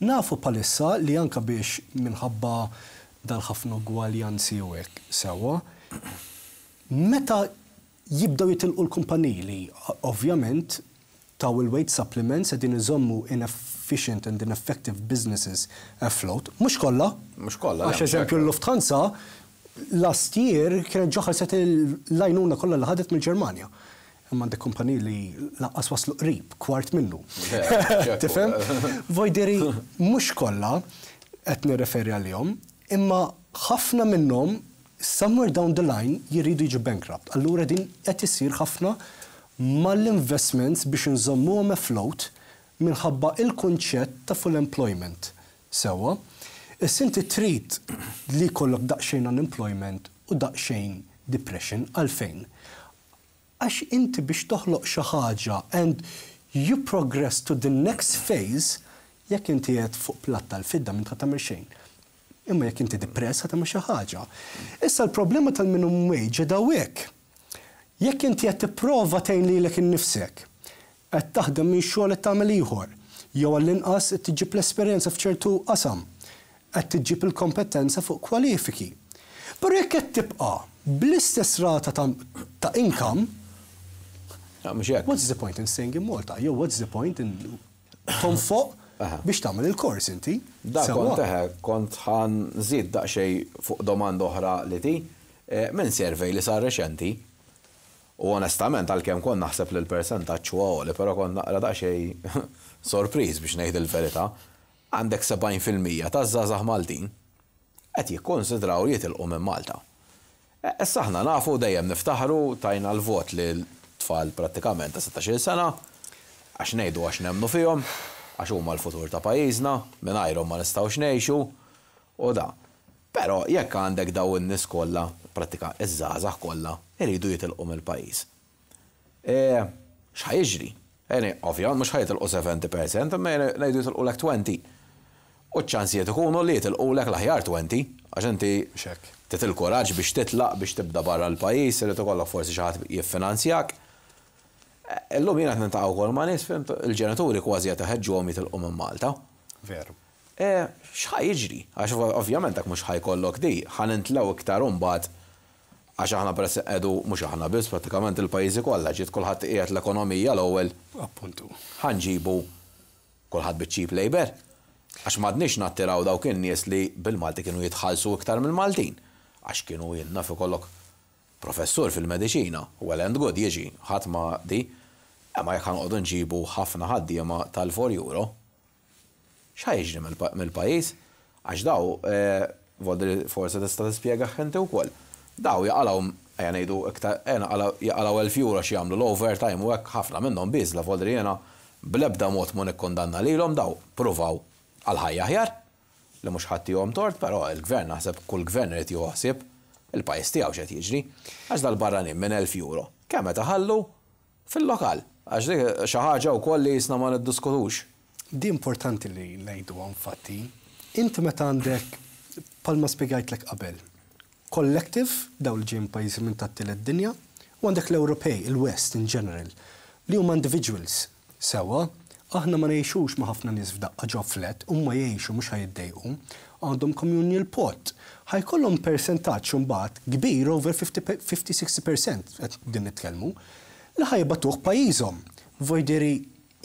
Nafu bħalissa li anka biex minħabba dal-ħafna ugwaljanzi u hekk sewwa, meta jibdew jitilqu l-kumpaniji li ovvjament taw il-wage supplements qegħdin iżommu inefficient and ineffective businesses afloat, mhux kollha. Mhux kollha, le, Għax mhux eżempju hekk. l-Lufthansa last year kienet ġa ħallset l-għajnuna kollha li ħadet mill-Ġermanja. Imma għandek kumpaniji li lanqas waslu qrib, kwart minnu. ċekku. Tifhem? Voldiri, mhux kollha qed nirreferi għalihom, imma ħafna minnhom somewhere down the line jiridu jiġu bankrupt. Allura din qed isir ħafna mal-investments biex nżommuhom afloat minħabba il-kunċett ta' full employment. Sewwa, issa inti trid li jkollok daqsxejn unemployment u daqsxejn depression, għalfejn? Għax inti biex toħloq xi ħaġa and you progress to the next phase, jekk inti qed fuq platt tal-fidda minn tagħmel xejn. Imma jekk inti depress ħa tagħmel xi ħaġa. Issa l-problema tal-minimum wage dawek. Jekk inti qed tipprova tgħin lilek innifsek, qed taħdem minn xogħol qed tagħmel ieħor, jew għall-inqas qed tiġib l-esperjenza f'ċertu qasam, qed tiġib il-kompetenza fuq kwalifiki. Però jekk qed tibqa' bl-istess rata ta', ta income, Ja, mhux hekk. what's the point in staying in Malta? Jew what's the point in tonfoq Aha. biex tagħmel il-kors inti? Da Sewwa. kont eħe, kont ħa nżid daqsxejn fuq domanda oħra li ti, eh, minn survey li sar reċenti, u onestament għalkemm kont naħseb li l-percentaġġ huwa għoli, però kont naqra daqsxejn sorpriż biex ngħid il-verità, għandek sebgħin fil-mija ta' żgħażagħ Maltin qed jikkonsidraw li jitilqu minn Malta. E, Issa aħna nafu dejjem niftaħru tajna l-vot li l-tfal prattikament ta' sittax-il sena, għax ngħidu għax nemnu fihom, għax huma l-futur ta' pajjiżna, mingħajrhom ma nistgħux ngħixu u da. Però jekk għandek daw in-nies kollha, prattika iż-żgħażagħ kollha, iridu jitilqu mill-pajjiż. E, x'ħa jiġri? Eni, ovvjament mhux ħa jitilqu sebgħin fil-mija, imma ngħidu jitilqu lek għoxrin. U ċ-ċansijiet ikunu li jitilqu lek l-aħjar għoxrin, għax inti Xek. trid il-kuraġġ biex titlaq, biex tibda barra l-pajjiż, irid ikollok forsi xi ħadd jiffinanzjak. E, Illum jiena qed niltaqa' wkoll ma' nies, fhimt, il-ġenituri kważi qed iħeġġuhom jitilqu minn Malta. Veru. E, x'ħa jiġri? Għax ovvjament dak mhux ħa jkollok di, ħa nintlew iktar imbagħad għax aħna peress qedu mhux aħna biss, prattikament il-pajjiżi kollha ġiet kulħadd qiegħed l-ekonomija l-ewwel. Appuntu. Ħa nġibu kulħadd biċ-cheap labor. Għax m'għadniex nattiraw dawk in-nies li bil-Malti kienu jitħallsu iktar mill-Maltin. Għax kienu jien naf ikollok professur fil-mediċina, well and good jiġi, ħadd ma di, imma jekk ħa noqogħdu nġibu ħafna ħaddiema tal-erbgħa euro, x'ħa jiġri mill-pajjiż? Għax daw, eh, voldri forsi tista' tispjega inti wkoll. Daw jaqalgħu, ejja ngħidu iktar, ejja jaqalgħu elf euro xi jagħmlu l-overtime u hekk, ħafna minnhom biżla, voldri jiena bl-ebda mod ma nikkondanna lilhom, daw pruvaw għal ħajja aħjar. Li mhux ħadd tort, però il-gvern, naħseb kull gvern irid joħsib il-pajjiż tiegħu x'qed jiġri. Għax dal-barranin minn elf euro, kemm qed iħallu fil-lokal? Għax dik xi ħaġa wkoll li jisna ma niddiskutux. Di importanti li ngħidu, infatti. Inti meta għandek, bħalma spjegajtlek qabel, collective, daw li ġejjin pajjiżi minn tat-tielet dinja, u għandek l-Ewropej, il-West in general, li huma individuals. Sewwa, aħna ma ngħixux ma' ħafna nies f'daqqa ġo flat, huma jgħixu, mhux ħa jiddejqu, għandhom communal pot. Ħa jkollhom percentaġġ imbagħad kbir, over fifty-sixty percent qed din nitkellmu, li ħa jibagħtuh pajjiżhom. Voldiri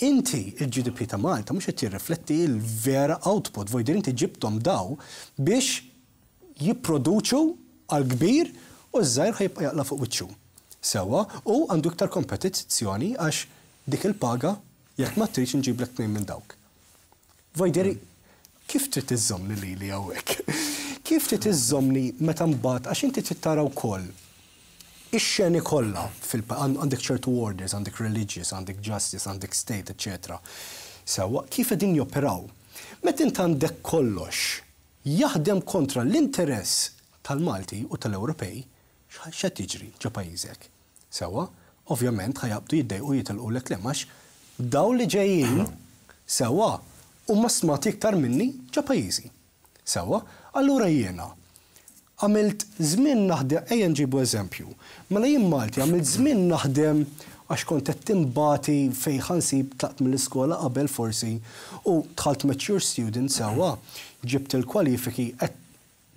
inti il-G D P ta' Malta mhux qed jirrifletti l-vera output, voldiri inti ġibthom daw biex jipproduċu għal kbir u ż-żgħir ħa jibqa' jaqla' fuq wiċċu. Sewwa, u għandu iktar kompetizzjoni għax dik il-paga, jekk ma tridx nġiblek tnejn minn dawk. Voldiri, kif trid iżżommni lili hawnhekk? Kif trid iżżommni meta mbagħad, għax inti trid tara wkoll ix-xeni kollha, għandek ċertu orders, għandek religious, għandek justice, għandek state, eccetera. Sewwa, kif qegħdin joperaw? Meta int għandek kollox jaħdem kontra l-interess tal-Malti u tal-Ewropej, x'qed jiġri ġo pajjiżek? Sewwa, ovvjament ħa jaqbdu jiddejqu, jitilqu lek għax daw li ġejjin, sewwa, huma stmati iktar minni ġo pajjiżi. Sewwa, allura jiena għamilt żmien naħdem, ejja nġibu eżempju. Mela jien Malti għamilt żmien naħdem għax kont qed timbati fejn ħa nsib, tlaqt mill-iskola qabel forsi u dħalt mature student, sewwa, ġibt il-kwalifiki,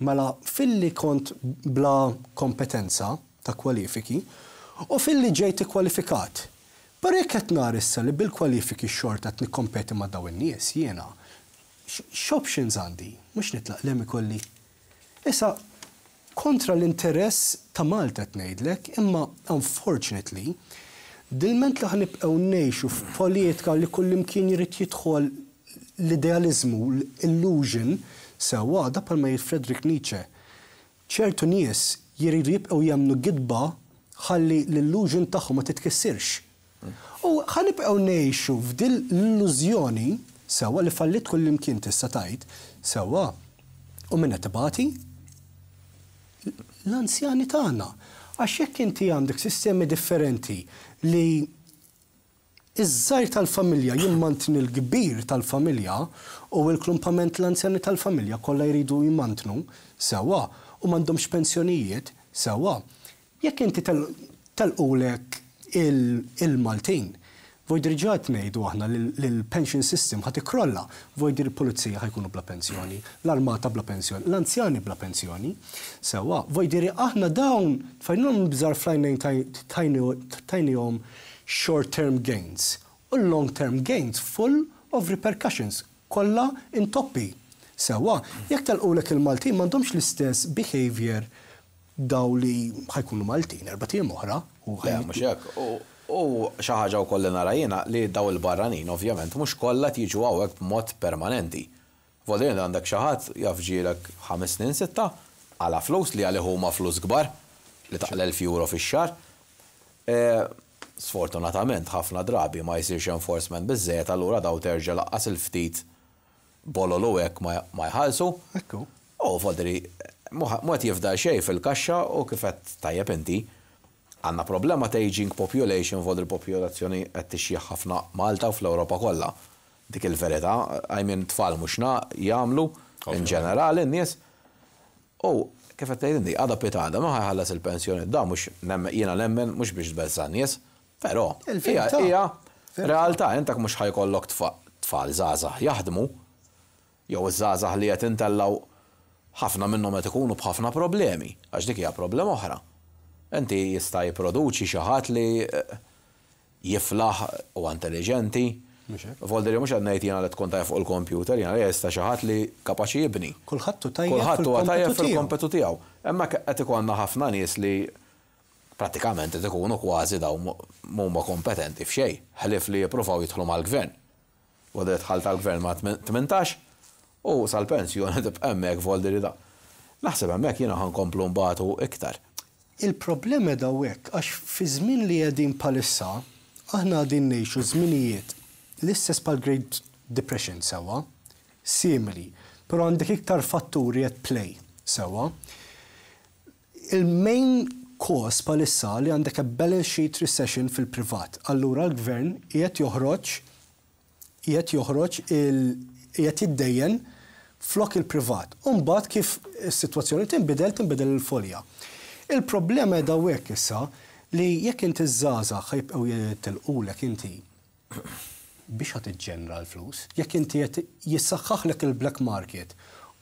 mela filli kont bla kompetenza ta' kwalifiki u filli ġejt kwalifikat. Però jekk qed nara issa li bil-kwalifiki xorta qed nikkompeti ma' dawn in-nies, jiena x'options għandi? Mhux nitlaq lem ikolli. Issa kontra l-interess ta' Malta qed ngħidlek, imma unfortunately, dilment li ħa nibqgħu ngħixu f'politika li kullimkien jrid jidħol l-idealizmu, l-illusion, sewwa, da bħalma jgħid Friedrich Nietzsche. Ċertu nies jiridu jibqgħu jemmnu gidba ħalli l-illusion tagħhom ma titkissirx. U ħa nibqgħu ngħixu f'dil l-illużjoni, sewwa, li fallit kullimkien tista' tgħid, sewwa, u min qed ibati? L-anzjani tagħna. Għax jekk inti għandek sistemi differenti li iż-żgħir tal-familja jimmantni l-kbir tal-familja u l-klumpament l-anzjani tal-familja kollha jridu jmantnu, sewwa, u m'għandhomx pensjonijiet, sewwa. Jekk inti telqulek il-Maltin, voldiri ġa ngħidu aħna l-pension system ħa tikkrolla, voldiri il-pulizija ħa jkunu bla pensjoni, l-armata bla pensjoni, l-anzjani bla pensjoni. Sewwa, voldiri aħna dawn tfajnhom bżar fl-għajnejn, tajnihom short-term gains u long-term gains full of repercussions, kollha intoppi. Sewwa, jekk telqulek il-Maltin, m'għandhomx l-istess behavior daw li ħa jkunu Maltin erbat ijiem oħra. Le, mhux hekk. U xi ħaġa wkoll li nara jiena li daw il-barranin ovvjament mhux kollha tiġu hawnhekk b'mod permanenti. Voldiri għandek xi ħadd jaf ġielek ħames snin, sitta, għala flus li għalih huma flus kbar li taqla' elf euro fix-xahar. E, sfortunatament ħafna drabi ma jsirx enforcement biżżejjed, allura daw terġa' lanqas il-ftit bolol u hekk ma jħallsu. Ekku. U voldiri mhu qed jifdal xejn fil-kaxxa u kif qed tajjeb inti, għandna problema ta' aging population, voldiri popolazzjoni qed tixjieħ ħafna Malta u fl-Ewropa kollha. Dik il-verità, I mean, tfal mhux jagħmlu in ġenerali n-nies. U kif qed tgħid inti, għada pitgħada ma ħa jħallas il-pensjoni, da mhux jiena nemmen mhux biex tbeżża' nies, però hija realtà, intak mhux ħa jkollok tfal żgħażagħ jaħdmu, jew iż-żgħażagħ li qed intellaw ħafna minnhom qed ikunu b'ħafna problemi, għax dik hija problema oħra. Inti jista' jipproduċi xi ħadd li eh, jiflaħ u intelligenti. Voldiri mhux qed ngħid jiena li tkun tajjeb fuq il-computer, jiena li jista' xi ħadd li kapaċi jibni. Kulħadd hu tajjeb Kulħadd huwa tajjeb fil-kompetu tiegħu. Imma qed ikollna ħafna nies li pratikament qed ikunu kważi daw mhuma kompetenti f'xejn, ħlief li jippruvaw jidħlu mal-gvern. Voldiri dħal tal-gvern ma' tmintax u sal-pensjoni tibqa' hemmhekk, voldiri da. Naħseb hemmhekk jiena ħa nkomplu nbatu iktar. Il-problema dawek, għax fi żmien li qegħdin bħalissa, aħna qegħdin ngħixu żminijiet l-istess bħal Great Depression, sewwa, simili. Però għandek iktar fatturi at play, sewwa. Il-main cause bħalissa li għandek a balance sheet recession fil-privat. Allura l-gvern qiegħed joħroġ qiegħed joħroġ il qiegħed jiddejjen flok il-privat. Umbagħad kif is-sitwazzjoni tinbidel, tinbidel il-folja. Il-problema qiegħda hekk issa li jekk inti ż-żgħażagħ ħa jibqgħu jitilqulek, inti biex ħa tiġġenera l-flus, jekk inti qed jissaħħaħlek il-black market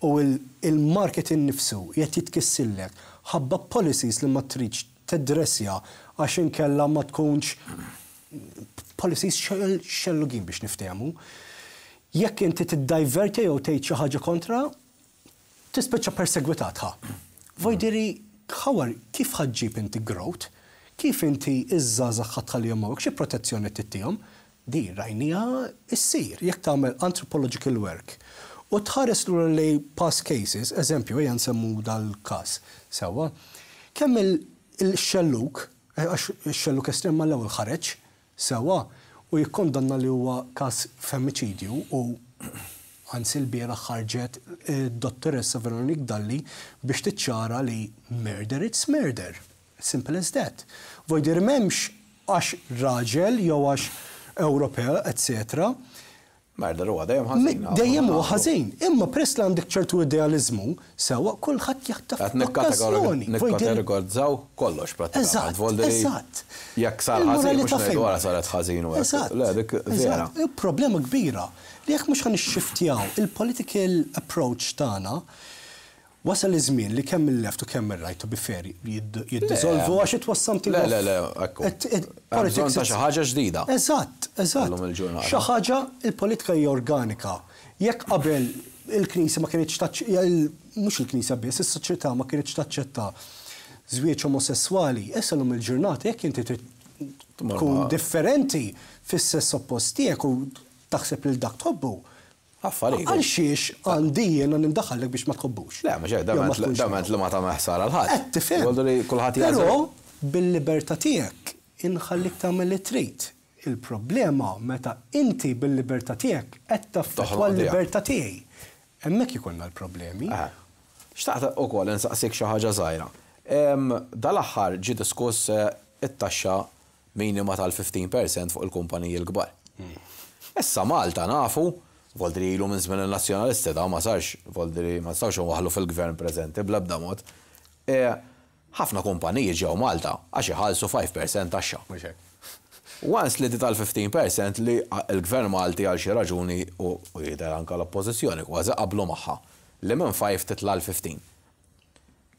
u il-market innifsu qed jitkissillek ħabba policies li ma tridx tedressja għax inkella ma tkunx policies xellugin biex niftehmu. Jekk inti tiddiverti jew tgħid xi ħaġa kontra, tispiċċa persegwitat ħa. Voldiri, ħawar, kif ħa ġġib inti growth? Kif inti iż-żgħażagħ ħa tħallihom hawnhekk? Xi protezzjoni tittihom? Di rajnieha issir jekk tagħmel anthropological work. U tħares lura li past cases, eżempju, ejja nsemmu dal-każ, sewwa, kemm il-xelluk, eh, għax il-xelluk estrem mal-ewwel ħareġ, sewwa, u jikkondanna li huwa każ femmiċidju, u anzi l-bieraħ ħarġet dottoressa Veronique Dalli biex tiċċara li murder, it's murder. Simple as that. Voldiri m'hemmx għax raġel jew għax Ewropew, et cetera. Murder huwa dejjem ħażin. Dejjem huwa ħażin. Imma press li għandek ċertu idealizmu, sewwa, kulħadd jaħtaf Qed okkażjoni. nikkategorizzaw kollox prattikament. Eżatt, Voldiri, eżatt. jekk sar ħażin, mhux Il-moralità ngħidu fejn? wara saret ħażin u hekk. Eżatt. Le, dik vera. Eżatt. Il-problema kbira li jekk mhux ħa nixxiftjaw il-political approach tagħna, wasal iż-żmien li kemm il-left u kemm il-right, to be fair, jiddizolvu għax it was something Le, of- le, le, ekku. It- it- Hemm bżonn politics ta' xi ħaġa ġdida. Eżatt, eżatt. Illum il-ġurnata. Xi ħaġa, il-politika hija organika. Jekk qabel il-Knisja ma kienx, mhux il-Knisja biss, is-soċjetà ma kienx taċċetta żwieġ omosessuali, issa llum il-ġurnata jekk inti trid tkun differenti fis-sess oppost tiegħek u taħseb lil dak tħobbu. Affarijiet. Għal xiex għandi jiena nindaħallek biex ma tħobbux? Le, ma xejn, Jew ma tkunx dament li ma ta' ħsara 'l ħadd. Qed tifhem. Voldiri kulħadd Però jagħżel. bil-libertà tiegħek inħallik tagħmel li trid. Il-problema meta inti bil-libertà tiegħek qed taffettwa Toħloq tiegħek. l-libertà tiegħi. Hemmhekk ikollna l-problemi. Aha. Xtaqt ukoll insaqsik xi ħaġa żgħira. Em, Dal-aħħar ġie diskuss eh, it-taxxa minima tal-ħmistax fil-mija fuq il-kumpaniji l-kbar. Issa Malta nafu, voldiri ilu minn żmien il-nazzjonalisti da ma sarx, voldiri ma nistgħux nwaħħlu fil-gvern preżenti bl-ebda mod. E, Ħafna kumpaniji ġew Malta għax iħallsu ħamsa fil-mija taxxa. Mhux hekk. Once li di tal-ħmistax fil-mija li il-gvern Malti għal xi raġuni u u jidher anka l-oppożizzjoni kważi qablu magħha li minn ħamsa titla' l-ħmistax.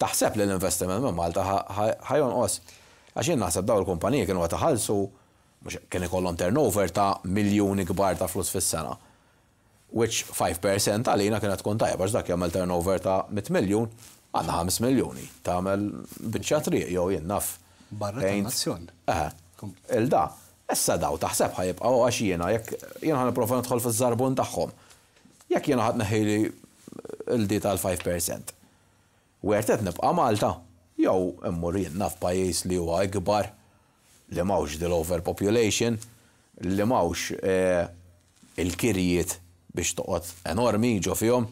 Taħseb li l-investiment minn Malta ħa jonqos? Għax jien naħseb daw il-kumpaniji kienu qed iħallsu, mhux kien ikollhom turnover ta' miljuni kbar ta' flus fis-sena. Which five percent għalina kienet tkun tajba għax dak jagħmel turnover ta' mitt miljun, għandna ħames miljuni. Tagħmel biċċa triq jew jien naf. Barra Paint. tan-nazzjon. Eħe. Il-da, issa daw taħseb ħa jibqgħu? Għax jiena jekk jiena ħa nipprova nidħol fiż-żarbun tagħhom. Jekk jiena ħadd neħili il-di tal-ħamsa fil-mija. Worth it nibqa' Malta, jew immur jien naf pajjiż li huwa ikbar, li m'hawnx dil overpopulation, li m'hawnx eh, il-kirjiet biex toqgħod enormi ġo fihom,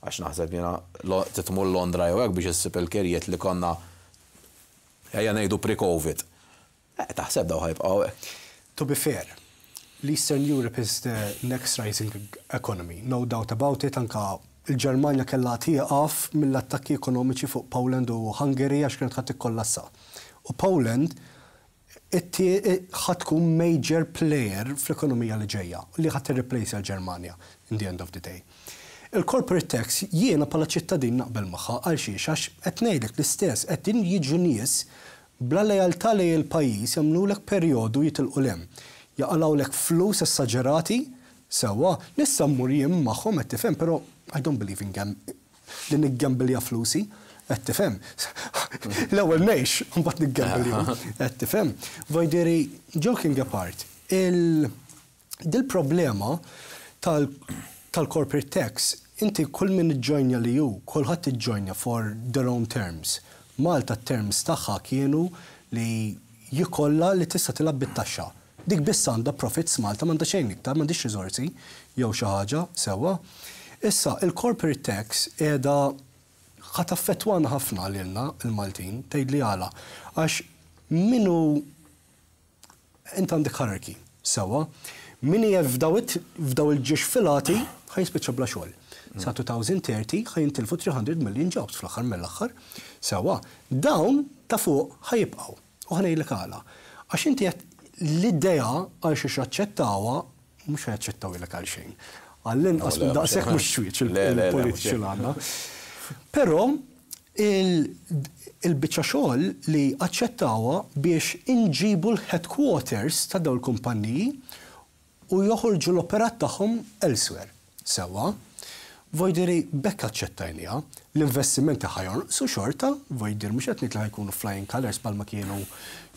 għax naħseb jiena lo- titmur Londra jew hekk biex issib il-kirjiet li konna, ejja ngħidu, pre-Covid. Eh, Taħseb daw ħa jibqgħu hekk? To be fair, l-Eastern Europe is the next rising economy, no doubt about it, anka il-Ġermanja kellha tieqaf mill-attakki ekonomiċi fuq Poland u Hungary għax kienet ħa tikkollassa. U Poland ħa tkun major player fl-ekonomija li ġejja, li ħa tirreplace l-Ġermanja in the end of the day. Il-corporate tax jiena bħala ċittadin naqbel magħha. Għal xiex? Għax qed ngħidlek l-istess, qed jiġu nies bla lealtà li l-pajjiż, jagħmlulek perjodu, jitilqu lem. Jaqalgħulek flus essaġerati, sewwa, nista' mmur jien magħhom, qed tifhem, però I don't believe in gam li niggambilja flusi, qed tifhem. L-ewwel ngħix, mbagħad niggambilja, qed tifhem. Voldiri, joking apart, il dil-problema tal-corporate tax, inti kull min iġġojnja li ju, kulħadd iġġojnja for their own terms. Malta terms tagħha kienu li jikolla li tista' tilgħab bit-taxxa. Dik biss għandha profits Malta, m'għandha xejn iktar, m'għandix riżorsi jew xi ħaġa, sewwa. Issa, il-corporate tax qiegħda ħa taffettwana ħafna lilna il-Maltin, tgħidli għala. Għax minnu int għandek hierarchy, sewwa, min f'daw il-ġiex filati ħa jispiċċa bla xogħol. Sa elfejn u tletin ħa jintilfu tliet mitt million jobs fl-aħħar mill-aħħar. Sewwa, dawn ta' fuq ħa jibqgħu. U ħa ngħidlek għala. Għax inti l-idea għal xiex aċċettawha, mhux ħa jaċċettaw għal xejn. Għall-inqas minn daqshekk mhux xwieċ il-politiċi l għandna. Però il-biċċa xogħol li aċċettawha biex inġibu l-headquarters ta' dawn il-kumpanniji u joħorġu l-operat tagħhom elsewhere. Sewwa, voldiri b'hekk aċċettajnieha, l-investimenti ħa jonqsu xorta, voldiri mhux qed li ħa jkunu flying colors bħalma kienu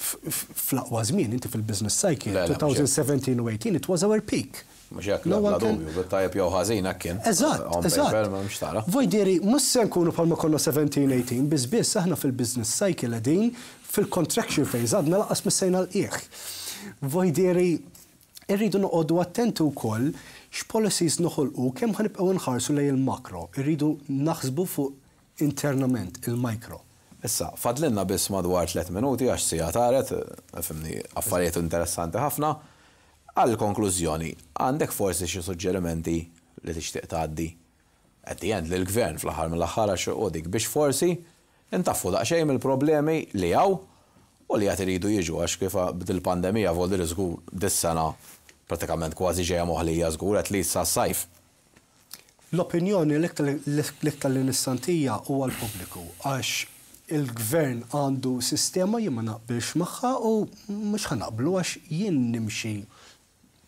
fl-aqwa żmien, inti fil-business cycle, elfejn u sbatax u tmintax, it was our peak. Mhux hekk, la dubju, bit-tajjeb jew ħażin hekk kien. Eżatt, eżatt. Voldiri, mhux se nkunu bħalma konna sbatax tmintax, biss biss aħna fil-business cycle qegħdin fil-contraction phase, għadna lanqas missejna l-qiegħ. Voldiri, irridu noqogħdu attenti wkoll x'policies noħolqu, kemm ħa nibqgħu nħarsu lejn il-makro, irridu naħsbu fuq internament il-micro. Issa, fadlinna biss madwar tliet minuti għax siegħa taret, fhimni, affarijiet interessanti ħafna. Għal konklużjoni, għandek forsi xi suġġerimenti li tixtieq tgħaddi at the end lill-gvern fl-aħħar mill-aħħar, għax u dik biex forsi intaffu daqsxejn mill-problemi li hawn u li għad iridu jiġu, għax kif b'dil-pandemija voldiri żgur dis-sena pratikament kważi ġejja moħlija żgur, at least sa sajf. L-opinjoni l-iktar li nista' ntija huwa l-pubbliku, għax il-gvern għandu sistema jien ma naqbilx magħha u mhux ħa naqblu, għax jien nimxi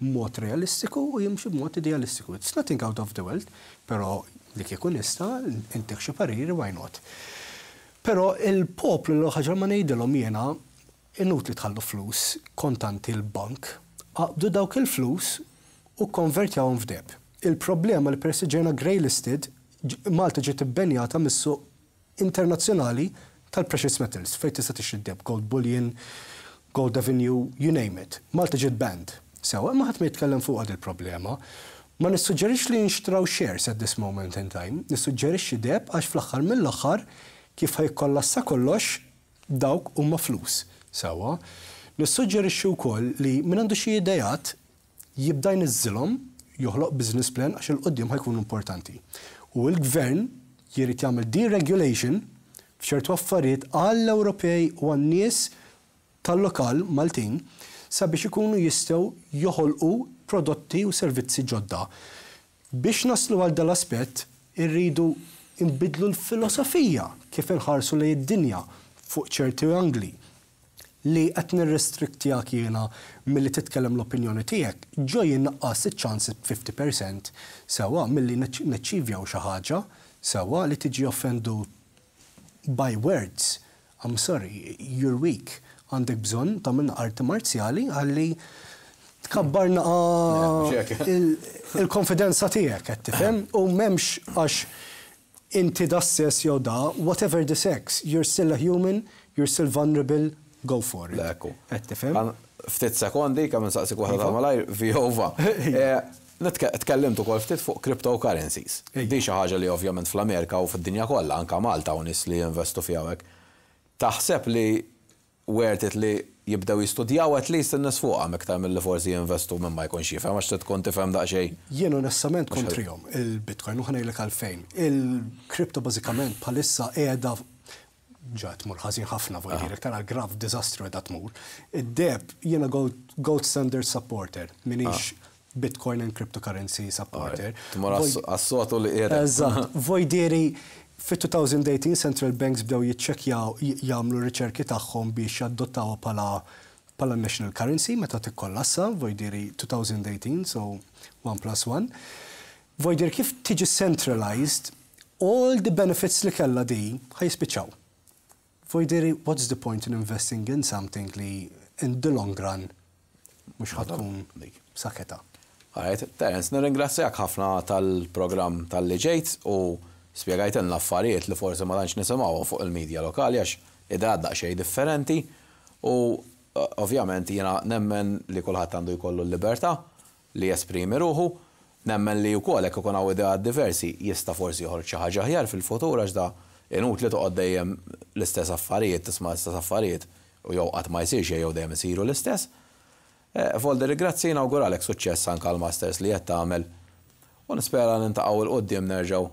mod realistiku u jimxi b'mod idealistiku. It's nothing out of the world, però li kieku nista' intik xi pariri, why not? Però il-poplu, l ħaġa ma ngħidilhom jiena, inutli tħallu flus kontanti l-bank, aqbdu dawk il-flus u konvertjawhom f'deheb. Il-problema li persi ġejna grey listed, Malta ġiet ibbannjata mis-suq internazzjonali tal-precious metals, fejn tista' tixtri deheb, gold bullion, Gold Avenue, you name it. Malta ġiet banned. Sewwa, ma ħadd ma jitkellem fuq il-problema. Ma nissuġġerix li nxtraw shares at this moment in time, nissuġġerixxi deheb, għax fl-aħħar mill-aħħar kif ħa jikkollassa kollox, dawk huma flus. Sewwa, nissuġġerixxi wkoll li min għandu xi idejat jibda jniżżilhom, joħloq business plan, għax 'il quddiem ħa jkunu importanti. U l-gvern jrid jagħmel deregulation f'ċertu affarijiet għall-Ewropej u għan-nies tal-lokal Maltin sabiex ikunu jistgħu joħolqu prodotti u servizzi ġodda. Biex naslu għal dal-aspett irridu nbidlu l-filosofija kif inħarsu lejn id-dinja fuq ċerti angli li qed nirrestriktjak jiena milli titkellem l-opinjoni tiegħek, ġo jinnaqqas iċ-ċans fifty percent, sewwa, milli nachievjaw xi ħaġa, sewwa, li tiġi offended by words. I'm sorry, you're weak. Għandek bżonn tagħmel arti marzjali għalli tkabbar il-konfidenza tiegħek, qed tifhem, u m'hemmx għax inti da sess jew da, whatever the sex, you're still a human, you're still vulnerable, go for it. Ekku. Qed tifhem? Ftit sekondi, kemm nsaqsik waħda ta' malajr, Viova. Tkellimt ukoll ftit fuq cryptocurrencies. Di xi ħaġa li ovvjament fl-Amerika u fid-dinja kollha, anka Malta u nies li jinvestu fiha hekk. Taħseb li worth it li jibdew jistudjaw at least in-nies fuqha iktar milli forsi jinvestu minn ma jkunx jifhem, għax tkun tifhem daqsxejn? Jien onestament kontrihom il-Bitcoin u ħa ngħidlek għalfejn. Il-crypto bażikament bħalissa qiegħda ġa tmur ħażin ħafna, voldiri tara graf diżastru qiegħda tmur. Id-deheb, jiena gold, gold standard supporter, minix Bitcoin and cryptocurrency supporter. Tmur għas-sotu li qiegħda. Eżatt, voldiri fit-elfejn u tmintax central banks bdew jiċċekkjaw, jagħmlu riċerki tagħhom biex jadottaw bħala bħala national currency meta tikkollassa, voldiri elfejn u tmintax, so one plus one. Voldiri kif tiġi centralized, all the benefits li kella di ħa jispiċċaw. Voldiri, what's the point in investing in something li in the long run mhux ħa tkun b'saħħitha? Alright, Terence, nirringrazzjak ħafna tal-programm talli ġejt u spjegajtilna affarijiet li forsi ma tantx nisimgħu fuq il-medja lokali, għax idea daqsxejn differenti u eh, ovvjament jiena nemmen li kulħadd għandu jkollu l-libertà li jesprimi ruħu. Nemmen li wkoll hekk ikun hawn ideat diversi jista' forsi joħroġ xi ħaġa aħjar fil-futur, għax da inutli toqgħod dejjem l-istess affarijiet, tisma' l-istess affarijiet u jew qatt ma jsir xejn jew dejjem isiru l-istess. Eh, Volder, grazzi, nawguralek suċċess anke għall-masters li qed tagħmel u nispera niltaqgħu 'l quddiem nerġgħu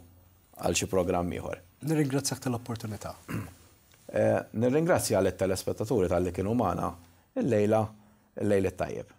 għal xi programm ieħor. Nirringrazzjak tal-opportunità. Eh, nirringrazzja lit-telespettaturi talli kienu magħna illejla, il-lejl it-tajjeb.